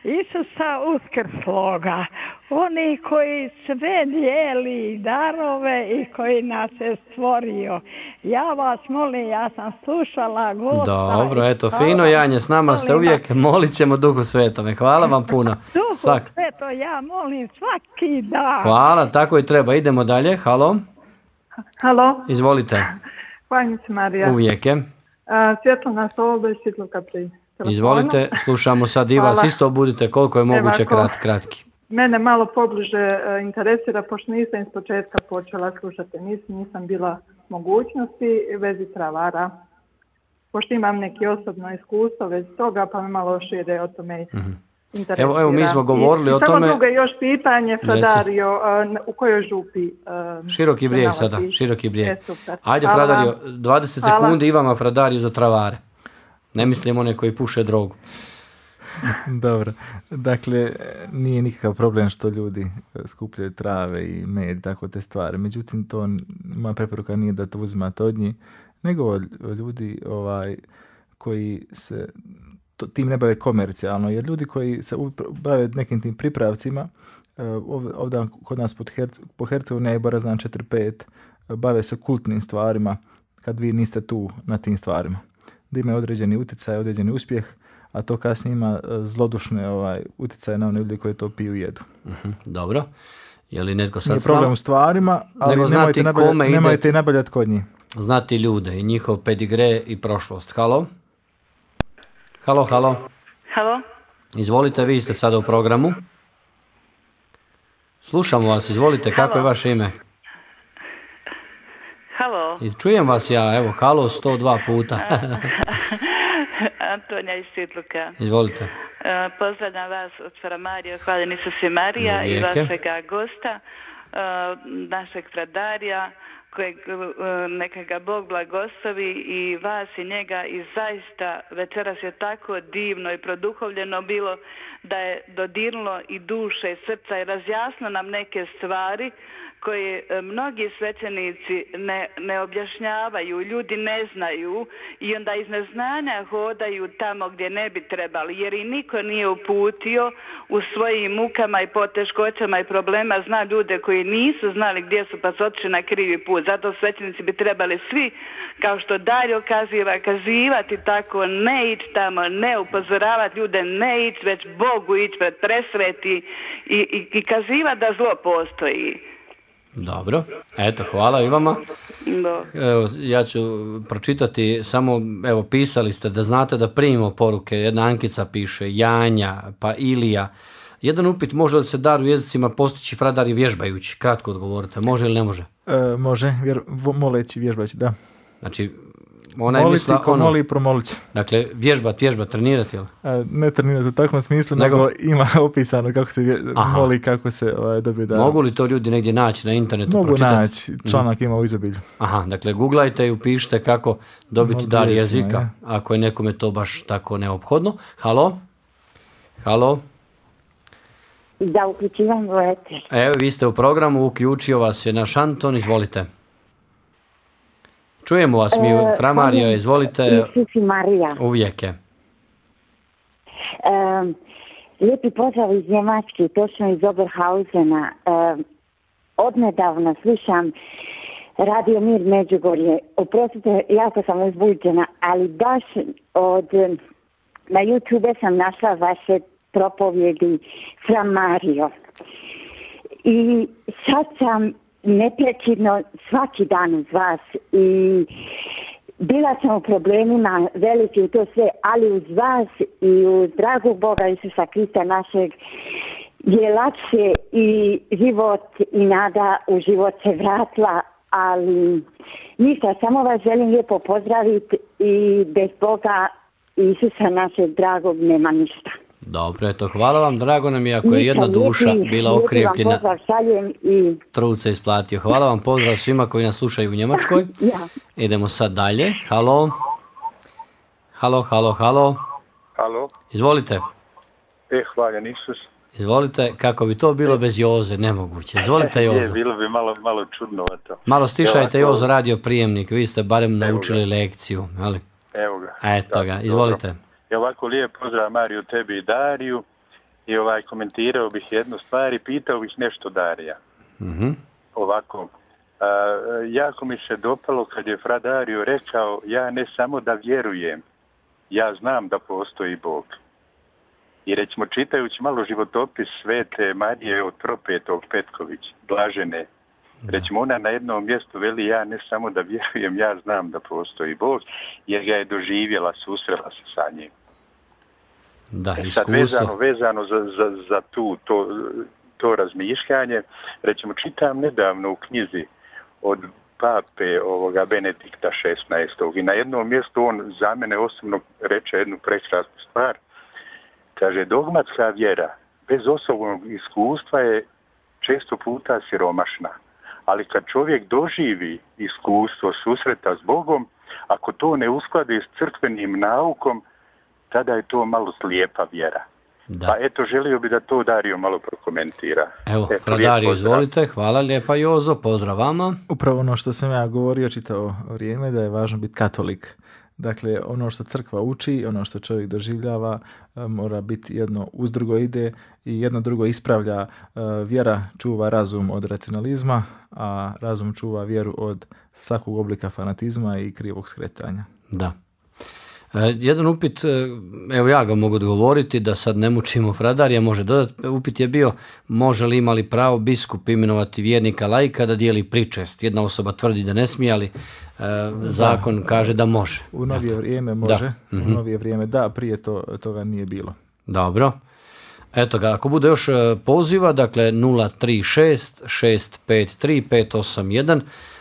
Isusa Uskrsloga, oni koji sve dijeli darove i koji nas je stvorio. Ja vas molim, ja sam slušala gosta.
Dobro, eto, fino Janje, s nama ste uvijek, molit ćemo Duhu Svetome. Hvala vam puno.
Duhu Sveto, ja molim svaki dan.
Hvala, tako i treba. Idemo dalje, halo.
Halo.
Izvolite.
Hvala se Marija.
Uvijek je.
Svjetlana Solodo iz Čitluka pri telefonu.
Izvolite, slušamo sad i vas, isto budite koliko je moguće kratki.
Mene malo pobliže interesira, pošto nisam iz početka počela slušati emisiju, nisam bila mogućnosti vezi travara. Pošto imam neki osobno iskustvo vezi toga, pa me malo šire o tome interesira.
Evo mi smo govorili o
Samo
tome.
drugo je još pitanje, Fradario, u kojoj župi?
Široki brijeg
se
sada,
nalazi?
Široki brijeg.
Super.
Ajde
Hvala
Fradario,
vam.
20
Hvala.
sekundi i vama Fradario za travare. Ne mislim one koji puše drogu.
Dobro, dakle, nije nikakav problem što ljudi skupljaju trave i med, tako te stvari. Međutim, to moja preporuka nije da to uzimate od njih, nego ljudi koji se tim ne bave komercijalno, jer ljudi koji se bave nekim tim pripravcima, ovdje kod nas po Hercegovini je Borazan 4-5, bave se kultnim stvarima kad vi niste tu na tim stvarima. Da imaju određeni utjecaj, određeni uspjeh, a to kasnije ima zlodušne utjecaje na one ljudi koji to piju i jedu.
Dobro. Je li netko sad
Nije problem u stvarima, ali nemojte i nabavljati kod njih.
Znati ljude i njihov pedigre i prošlost. Halo? Halo?
Halo?
Izvolite, vi ste sada u programu. Slušamo vas, izvolite, kako je vaše ime?
Halo?
Čujem vas ja, evo, halo 102 puta.
Antonija iz Svitluka.
Izvolite.
Pozdravljam vas od Framario, hvaljeni su svi Marija i vašega gosta, našeg Fradarija, kojeg neka ga Bog blagoslovi i vas i njega, i zaista večeras je tako divno i produhovljeno bilo da je dodirnulo i duše i srca i razjasno nam neke stvari koje mnogi svećenici ne objašnjavaju, ljudi ne znaju i onda iz neznanja hodaju tamo gdje ne bi trebali, jer i niko nije uputio u svojim mukama i poteškoćama i problema, zna ljude koji nisu znali gdje su pa su otišli na krivi put. Zato svećenici bi trebali svi, kao što Dario kazivati tako, ne ići tamo, ne upozoravati ljude, ne ići, već Bogu ići pred presveti i kazivati da zlo postoji.
Dobro, eto, hvala i vama. Evo, ja ću pročitati, samo, evo, pisali ste da znate da primimo poruke, jedna Ankica piše, Janja, pa Ilija. Jedan upit, može li se dar u jezicima postići Fradari vježbajući? Kratko odgovorite, može ili ne može?
Može, moleći, vježbajući, da.
Znači, ona je mislila ono...
moli i promolit će.
Dakle, vježbat, trenirati, jel?
Ne trenirati u takvom smislu, nego ima opisano kako se moli, kako se dobije dar.
Mogu li to ljudi negdje naći na internetu?
Mogu naći, članak ima u izobilju.
Aha, dakle, googlajte i upišite kako dobiti dar jezika, ako je nekome to baš tako neophodno. Halo?
Da uključivam eter.
Evo, vi ste u programu, uključio vas je naš Anton, izvolite. Čujemo vas mi, Framario, izvolite.
Isusi Marija.
Uvijek je.
Lijepi pozdrav iz Njemačke, točno iz Oberhausena. Odnedavno slušam Radio Mir Međugorje. Oprostite, jako sam uzbuđena, ali baš na YouTube sam našla vaše propovjedi Framario. I sad sam neprekidno svaki dan uz vas i bila sam u problemima veliki u to sve, ali uz vas i uz dragog Boga Isusa Krista našeg je lakše i život i nada u život se vratila, ali ništa, samo vas želim lijepo pozdraviti i bez Boga Isusa našeg dragog nema ništa.
Dobro, eto, hvala vam, drago nam je ako je jedna duša bila okrepljena, trud se isplatio. Hvala vam, pozdrav svima koji nas slušaju u Njemačkoj. Idemo sad dalje. Halo?
Halo?
Izvolite.
Hvaljen Isus.
Izvolite, kako bi to bilo bez Joze, nemoguće. Izvolite, Jozo.
Bilo bi malo čudnovato.
Malo stišajte Jozo radio prijemnik, vi ste barem naučili lekciju, ali?
Evo ga.
Eto ga, izvolite.
Dobro. I ovako lijep pozdrav Mariju, tebi i Dariju. I komentirao bih jednu stvar i pitao bih nešto Darija. Ovako, jako mi se dopalo kad je Fra Dario rekao, ja ne samo da vjerujem, ja znam da postoji Bog. I recimo čitajući malo životopis Svete Marije od Propetog Petković, blažene, recimo ona na jednom mjestu veli, ja ne samo da vjerujem, ja znam da postoji Bog, jer ga je doživjela, susrela se sa njim.
Da,
sad vezano za to razmišljanje, recimo čitam nedavno u knjizi od pape Benedikta XVI. I na jednom mjestu on za mene osobno reče jednu prekrasnu stvar. Kaže, dogmatska vjera bez osobnog iskustva je često puta siromašna. Ali kad čovjek doživi iskustvo susreta s Bogom, ako to ne uskladi s crkvenim naukom, tada je to malo slijepa vjera.
Da.
Pa eto, želio bi da to Dario malo prokomentira.
Evo, Dario, izvolite. Hvala lijepa, Jozo, pozdrav vama.
Upravo ono što sam ja govorio čitavo vrijeme, da je važno biti katolik. Dakle, ono što crkva uči, ono što čovjek doživljava, mora biti jedno uz drugo ide i jedno drugo ispravlja. Vjera čuva razum od racionalizma, a razum čuva vjeru od svakog oblika fanatizma i krivog skretanja.
Da. Jedan upit, evo ja ga mogu odgovoriti da sad ne mučimo Fradarija, može dodati. Upit je bio, može li imali pravo biskup imenovati vjernika laika da dijeli pričest? Jedna osoba tvrdi da ne smije, ali zakon kaže da može.
U novije vrijeme može, u novije vrijeme da, prije toga nije bilo.
Dobro. Eto ga, ako bude još poziva, dakle 036 653 581,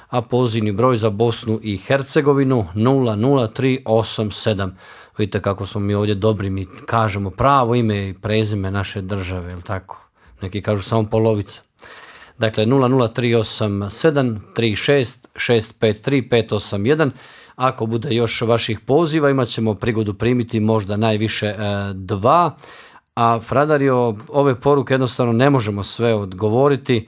a pozivni broj za Bosnu i Hercegovinu 00387. Vidite kako smo mi ovdje dobri, mi kažemo pravo ime i prezime naše države, jel tako? Neki kažu samo polovica. Dakle 00387 36 653 581. Ako bude još vaših poziva, imat ćemo prigodu primiti možda najviše 2. A Fradario, ove poruke jednostavno ne možemo sve odgovoriti.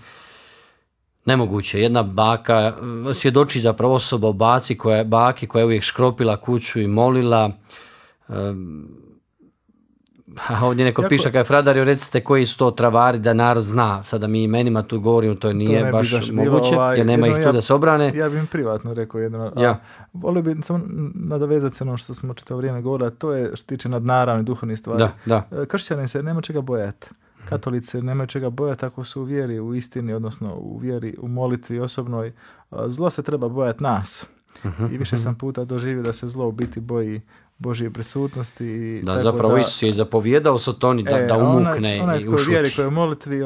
Nemoguće. Jedna baka, svjedoči zapravo osoba o baki koja je uvijek škropila kuću i molila. A ovdje neko piše kada je Fradario, recite koji su to travari da narod zna. Sada mi imenima tu govorimo, to nije baš moguće, jer nema ih tu da se obrane.
Ja bih im privatno rekao jedno. Volio bi samo nadovezati se ono što smo čitavo vrijeme govorili, to je što tiče nadnaravnih duhovnih stvari.
Da.
Kršćani se nema čega bojati. Katolici nemaju čega bojati ako su u vjeri, u istini, odnosno u vjeri, u molitvi osobnoj. Zlo se treba bojati nas. I više sam puta doživio da se zlo u biti boji Božje prisutnosti.
Da, zapravo Isus je zapovjedao Sotoni da umukne i ušuti.
Onaj koji je u molitvi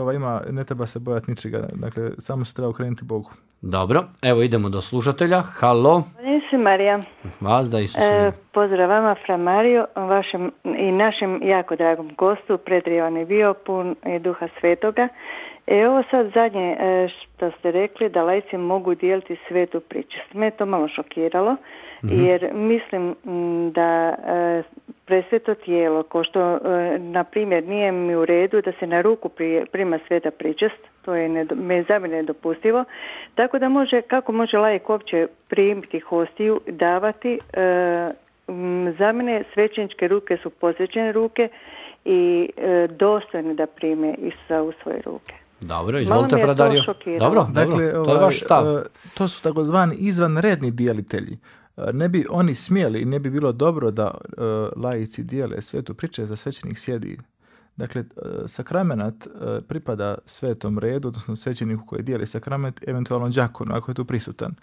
ne treba se bojati ničega. Dakle, samo se treba okrenuti Bogu.
Dobro, evo idemo do slušatelja. Halo.
Isus Marija.
Vas da Isus.
Pozdrav vama, Fra Mario, vašem i našem jako dragom gostu, predrivan je bio, pun je Duha Svetoga. Ovo sad zadnje što ste rekli, da laici mogu dijeliti svetu pričest. Me to malo šokiralo, jer mislim da presveto tijelo, ko što, na primjer, nije mi u redu da se na ruku prima sveta pričest, to je za mene nedopustivo, tako da kako može laik uopće primiti hostiju, davati, za mene svećeničke ruke su posvećene ruke i dostojne da prime Isusa u svoje ruke.
Dobro, izvolite, Fradario. Dobro,
dakle,
to je vaš stav.
To su takozvani izvanredni dijelitelji. Ne bi oni smjeli, ne bi bilo dobro da laici dijele svetu pričest, da svećenik sjedi. Dakle, sakramenat pripada svetom redu, odnosno svećeniku koji dijeli sakrament, eventualno đakonu, ako je tu prisutan.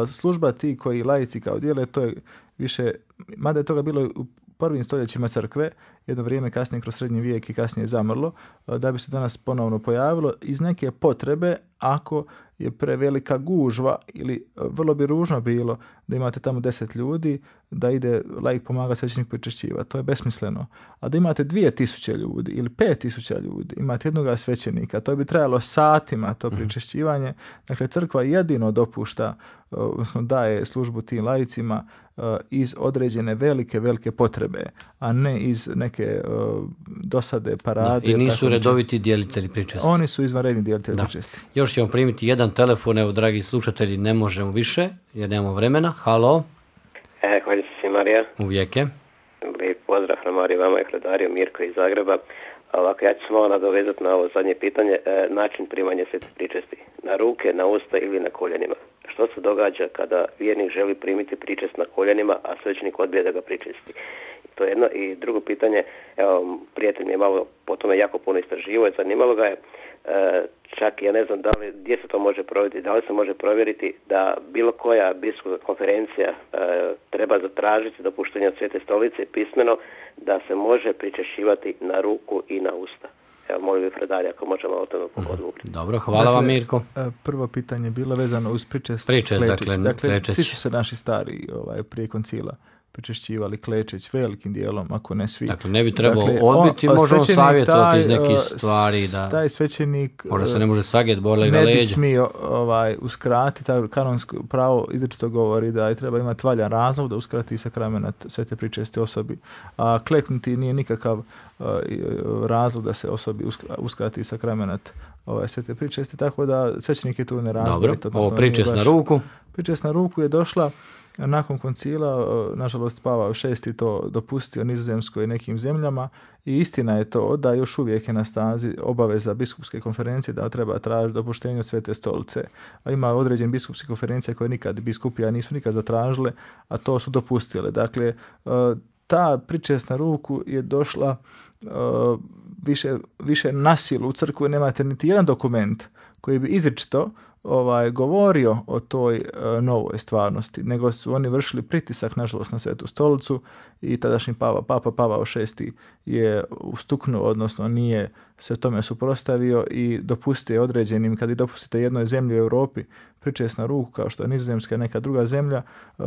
Služba ti koji laici kao dijele, to je više, mada je toga bilo u prvim stoljećima crkve, jedno vrijeme kasnije kroz srednji vijek i kasnije zamrlo, da bi se danas ponovno pojavilo iz neke potrebe, ako je prevelika gužva ili vrlo bi ružno bilo da imate tamo 10 ljudi, da ide laik pomaga svećenik pričešćivati. To je besmisleno. A da imate 2000 ljudi ili 5000 ljudi, imate jednoga svećenika, to bi trajalo satima to pričešćivanje. Dakle, crkva jedino dopušta, odnosno daje službu tim laicima iz određene velike potrebe, a ne iz neke dosade, parade.
I nisu redoviti dijelitelji pričesti.
Oni su izvanredni dijelitelji pričesti.
Još ćemo primiti jedan telefon, evo dragi slušatelji, ne možemo više jer nemamo vremena. Halo.
Hvala se Marija.
Uvijek je.
Lijep pozdrav Fra Marija, vama i Fradario, Mirko iz Zagreba. Ovako, ja ću se malo nadovezati na ovo zadnje pitanje, način primanja svete pričesti. Na ruke, na usta ili na koljenima. Što se događa kada vjernik želi primiti pričest na koljenima, a svećenik odbije da ga pričesti? To je jedno. I drugo pitanje, evo, prijatelj mi je malo po tome jako puno istraživao i zanimalo ga je, čak ja ne znam gdje se to može provjeriti, da li se može provjeriti da bilo koja biskupska konferencija treba zatražiti dopuštenje od Svete stolice pismeno da se može pričešćivati na ruku i na usta. Evo, molim bi Fradarija ako možemo o tome odgovoriti.
Dobro, hvala vam Mirko.
Prvo pitanje je bilo vezano uz pričest
dakle,
svi su se naši stari prije koncila pričešćivali klečeć velikim dijelom, ako ne svi.
Dakle, ne bi trebao odbiti, može on savjetovati iz nekih stvari da...
Taj svećenik...
Možda se ne može sagjet, bole ga
leđa.
leđa.
Ne bi smio uskratiti, taj kanonsko pravo izričito govori da treba imati valjan razlog da uskrati sakrament svete pričesti osobi. A kleknuti nije nikakav razlog da se osobi uskrati sakrament svete pričesti, tako da svećenik je tu nerazborit.
Dobro, ovo pričest na ruku.
Pričest na ruku je došla nakon koncila, nažalost Pavao VI to dopustio Nizozemskoj i nekim zemljama i istina je to da još uvijek je na snazi obaveza biskupske konferencije da treba tražiti dopuštenje od Svete stolice. A ima određen biskupske konferencije koje nikad biskupija nisu nikad zatražile, a to su dopustile. Dakle, ta pričest na ruku je došla više na silu u crkvu, nemate niti jedan dokument koji bi izričito govorio o toj novoj stvarnosti, nego su oni vršili pritisak, nažalost, na Svetu stolicu i tadašnji Papa Pavao VI je ustuknuo, odnosno nije se tome suprotstavio i dopustio određenim, kad vi dopustite jednoj zemlji u Europi pričest na ruku, kao što je Nizozemska i neka druga zemlja,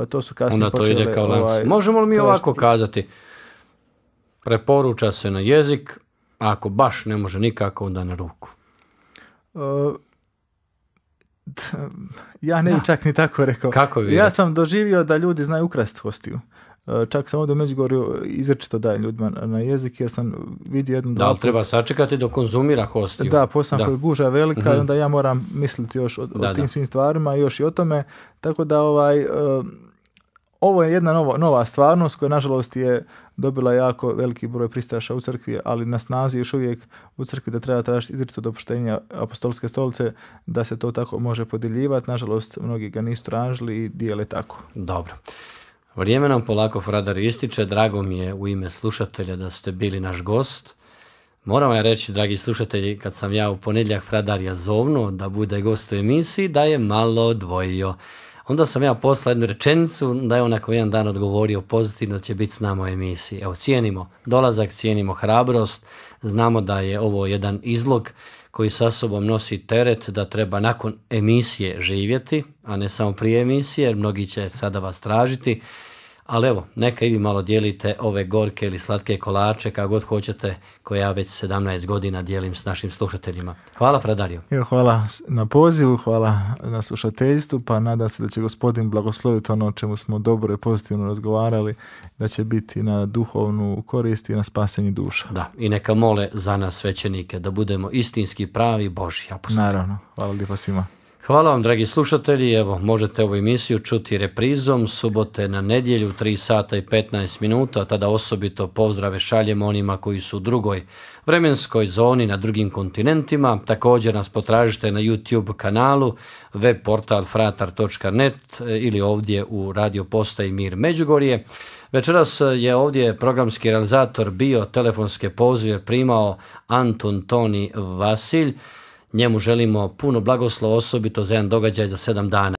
to su kasnije počele...
Onda to ide kao lanac. Možemo li mi ovako kazati? Preporuča se na jezik, a ako baš ne može nikako, onda na ruku.
Ja ne bi čak ni tako rekao.
Kako vi?
Ja sam doživio da ljudi znaju ukrasti hostiju. Čak sam ovdje u Međugorju izrečito dajem ljudima na jezik, jer sam vidio jednu...
Da, ali treba sačekati dok konzumira hostiju.
Da, posebno koja je guža velika i onda ja moram misliti još o tim svim stvarima, još i o tome. Tako da ovo je jedna nova stvarnost koja nažalost je dobila jako veliki broj pristaša u crkvi, ali na snazi još uvijek u crkvi da treba tražiti izričito dopuštenja apostolske stolice da se to tako može podjeljivati. Nažalost, mnogi ga nisu tražili i dijele tako.
Dobro. Vrijeme nam polako, Fradar, ističe. Drago mi je u ime slušatelja da ste bili naš gost. Moram vam reći, dragi slušatelji, kad sam ja u ponedjeljak Fradarja zovnuo da bude gost u emisiji, da je malo odvojio. Onda sam ja poslao jednu rečenicu da je on nakon jedan dan odgovorio pozitivno će biti s nama u emisiji. Evo, cijenimo dolazak, cijenimo hrabrost, znamo da je ovo jedan izlog koji sa sobom nosi teret da treba nakon emisije živjeti, a ne samo prije emisije, jer mnogi će sada vas tražiti. Ali evo, neka i vi malo dijelite ove gorke ili slatke kolače, kako god hoćete, koje ja već 17 godina dijelim s našim slušateljima. Hvala, Fradario.
Hvala na pozivu, hvala na slušateljstvu, pa nadam se da će Gospodin blagosloviti ono o čemu smo dobro i pozitivno razgovarali, da će biti na duhovnu korist i na spasenje duša.
Da, i neka mole za nas svećenike, da budemo istinski pravi Božji apostoli.
Naravno, hvala lijepa svima.
Hvala vam, dragi slušatelji. Evo, možete ovu emisiju čuti reprizom subote na nedjelju 3 sata i 15 minuta. Tada osobito pozdrave šaljemo onima koji su u drugoj vremenskoj zoni na drugim kontinentima. Također nas potražite na YouTube kanalu, web portal fratar.net ili ovdje u radio postaji Mir Međugorje. Večeras je ovdje programski realizator bio, telefonske pozive primao Antun Toni Vasilj. Njemu želimo puno blagoslova, osobito za jedan događaj za 7 dana.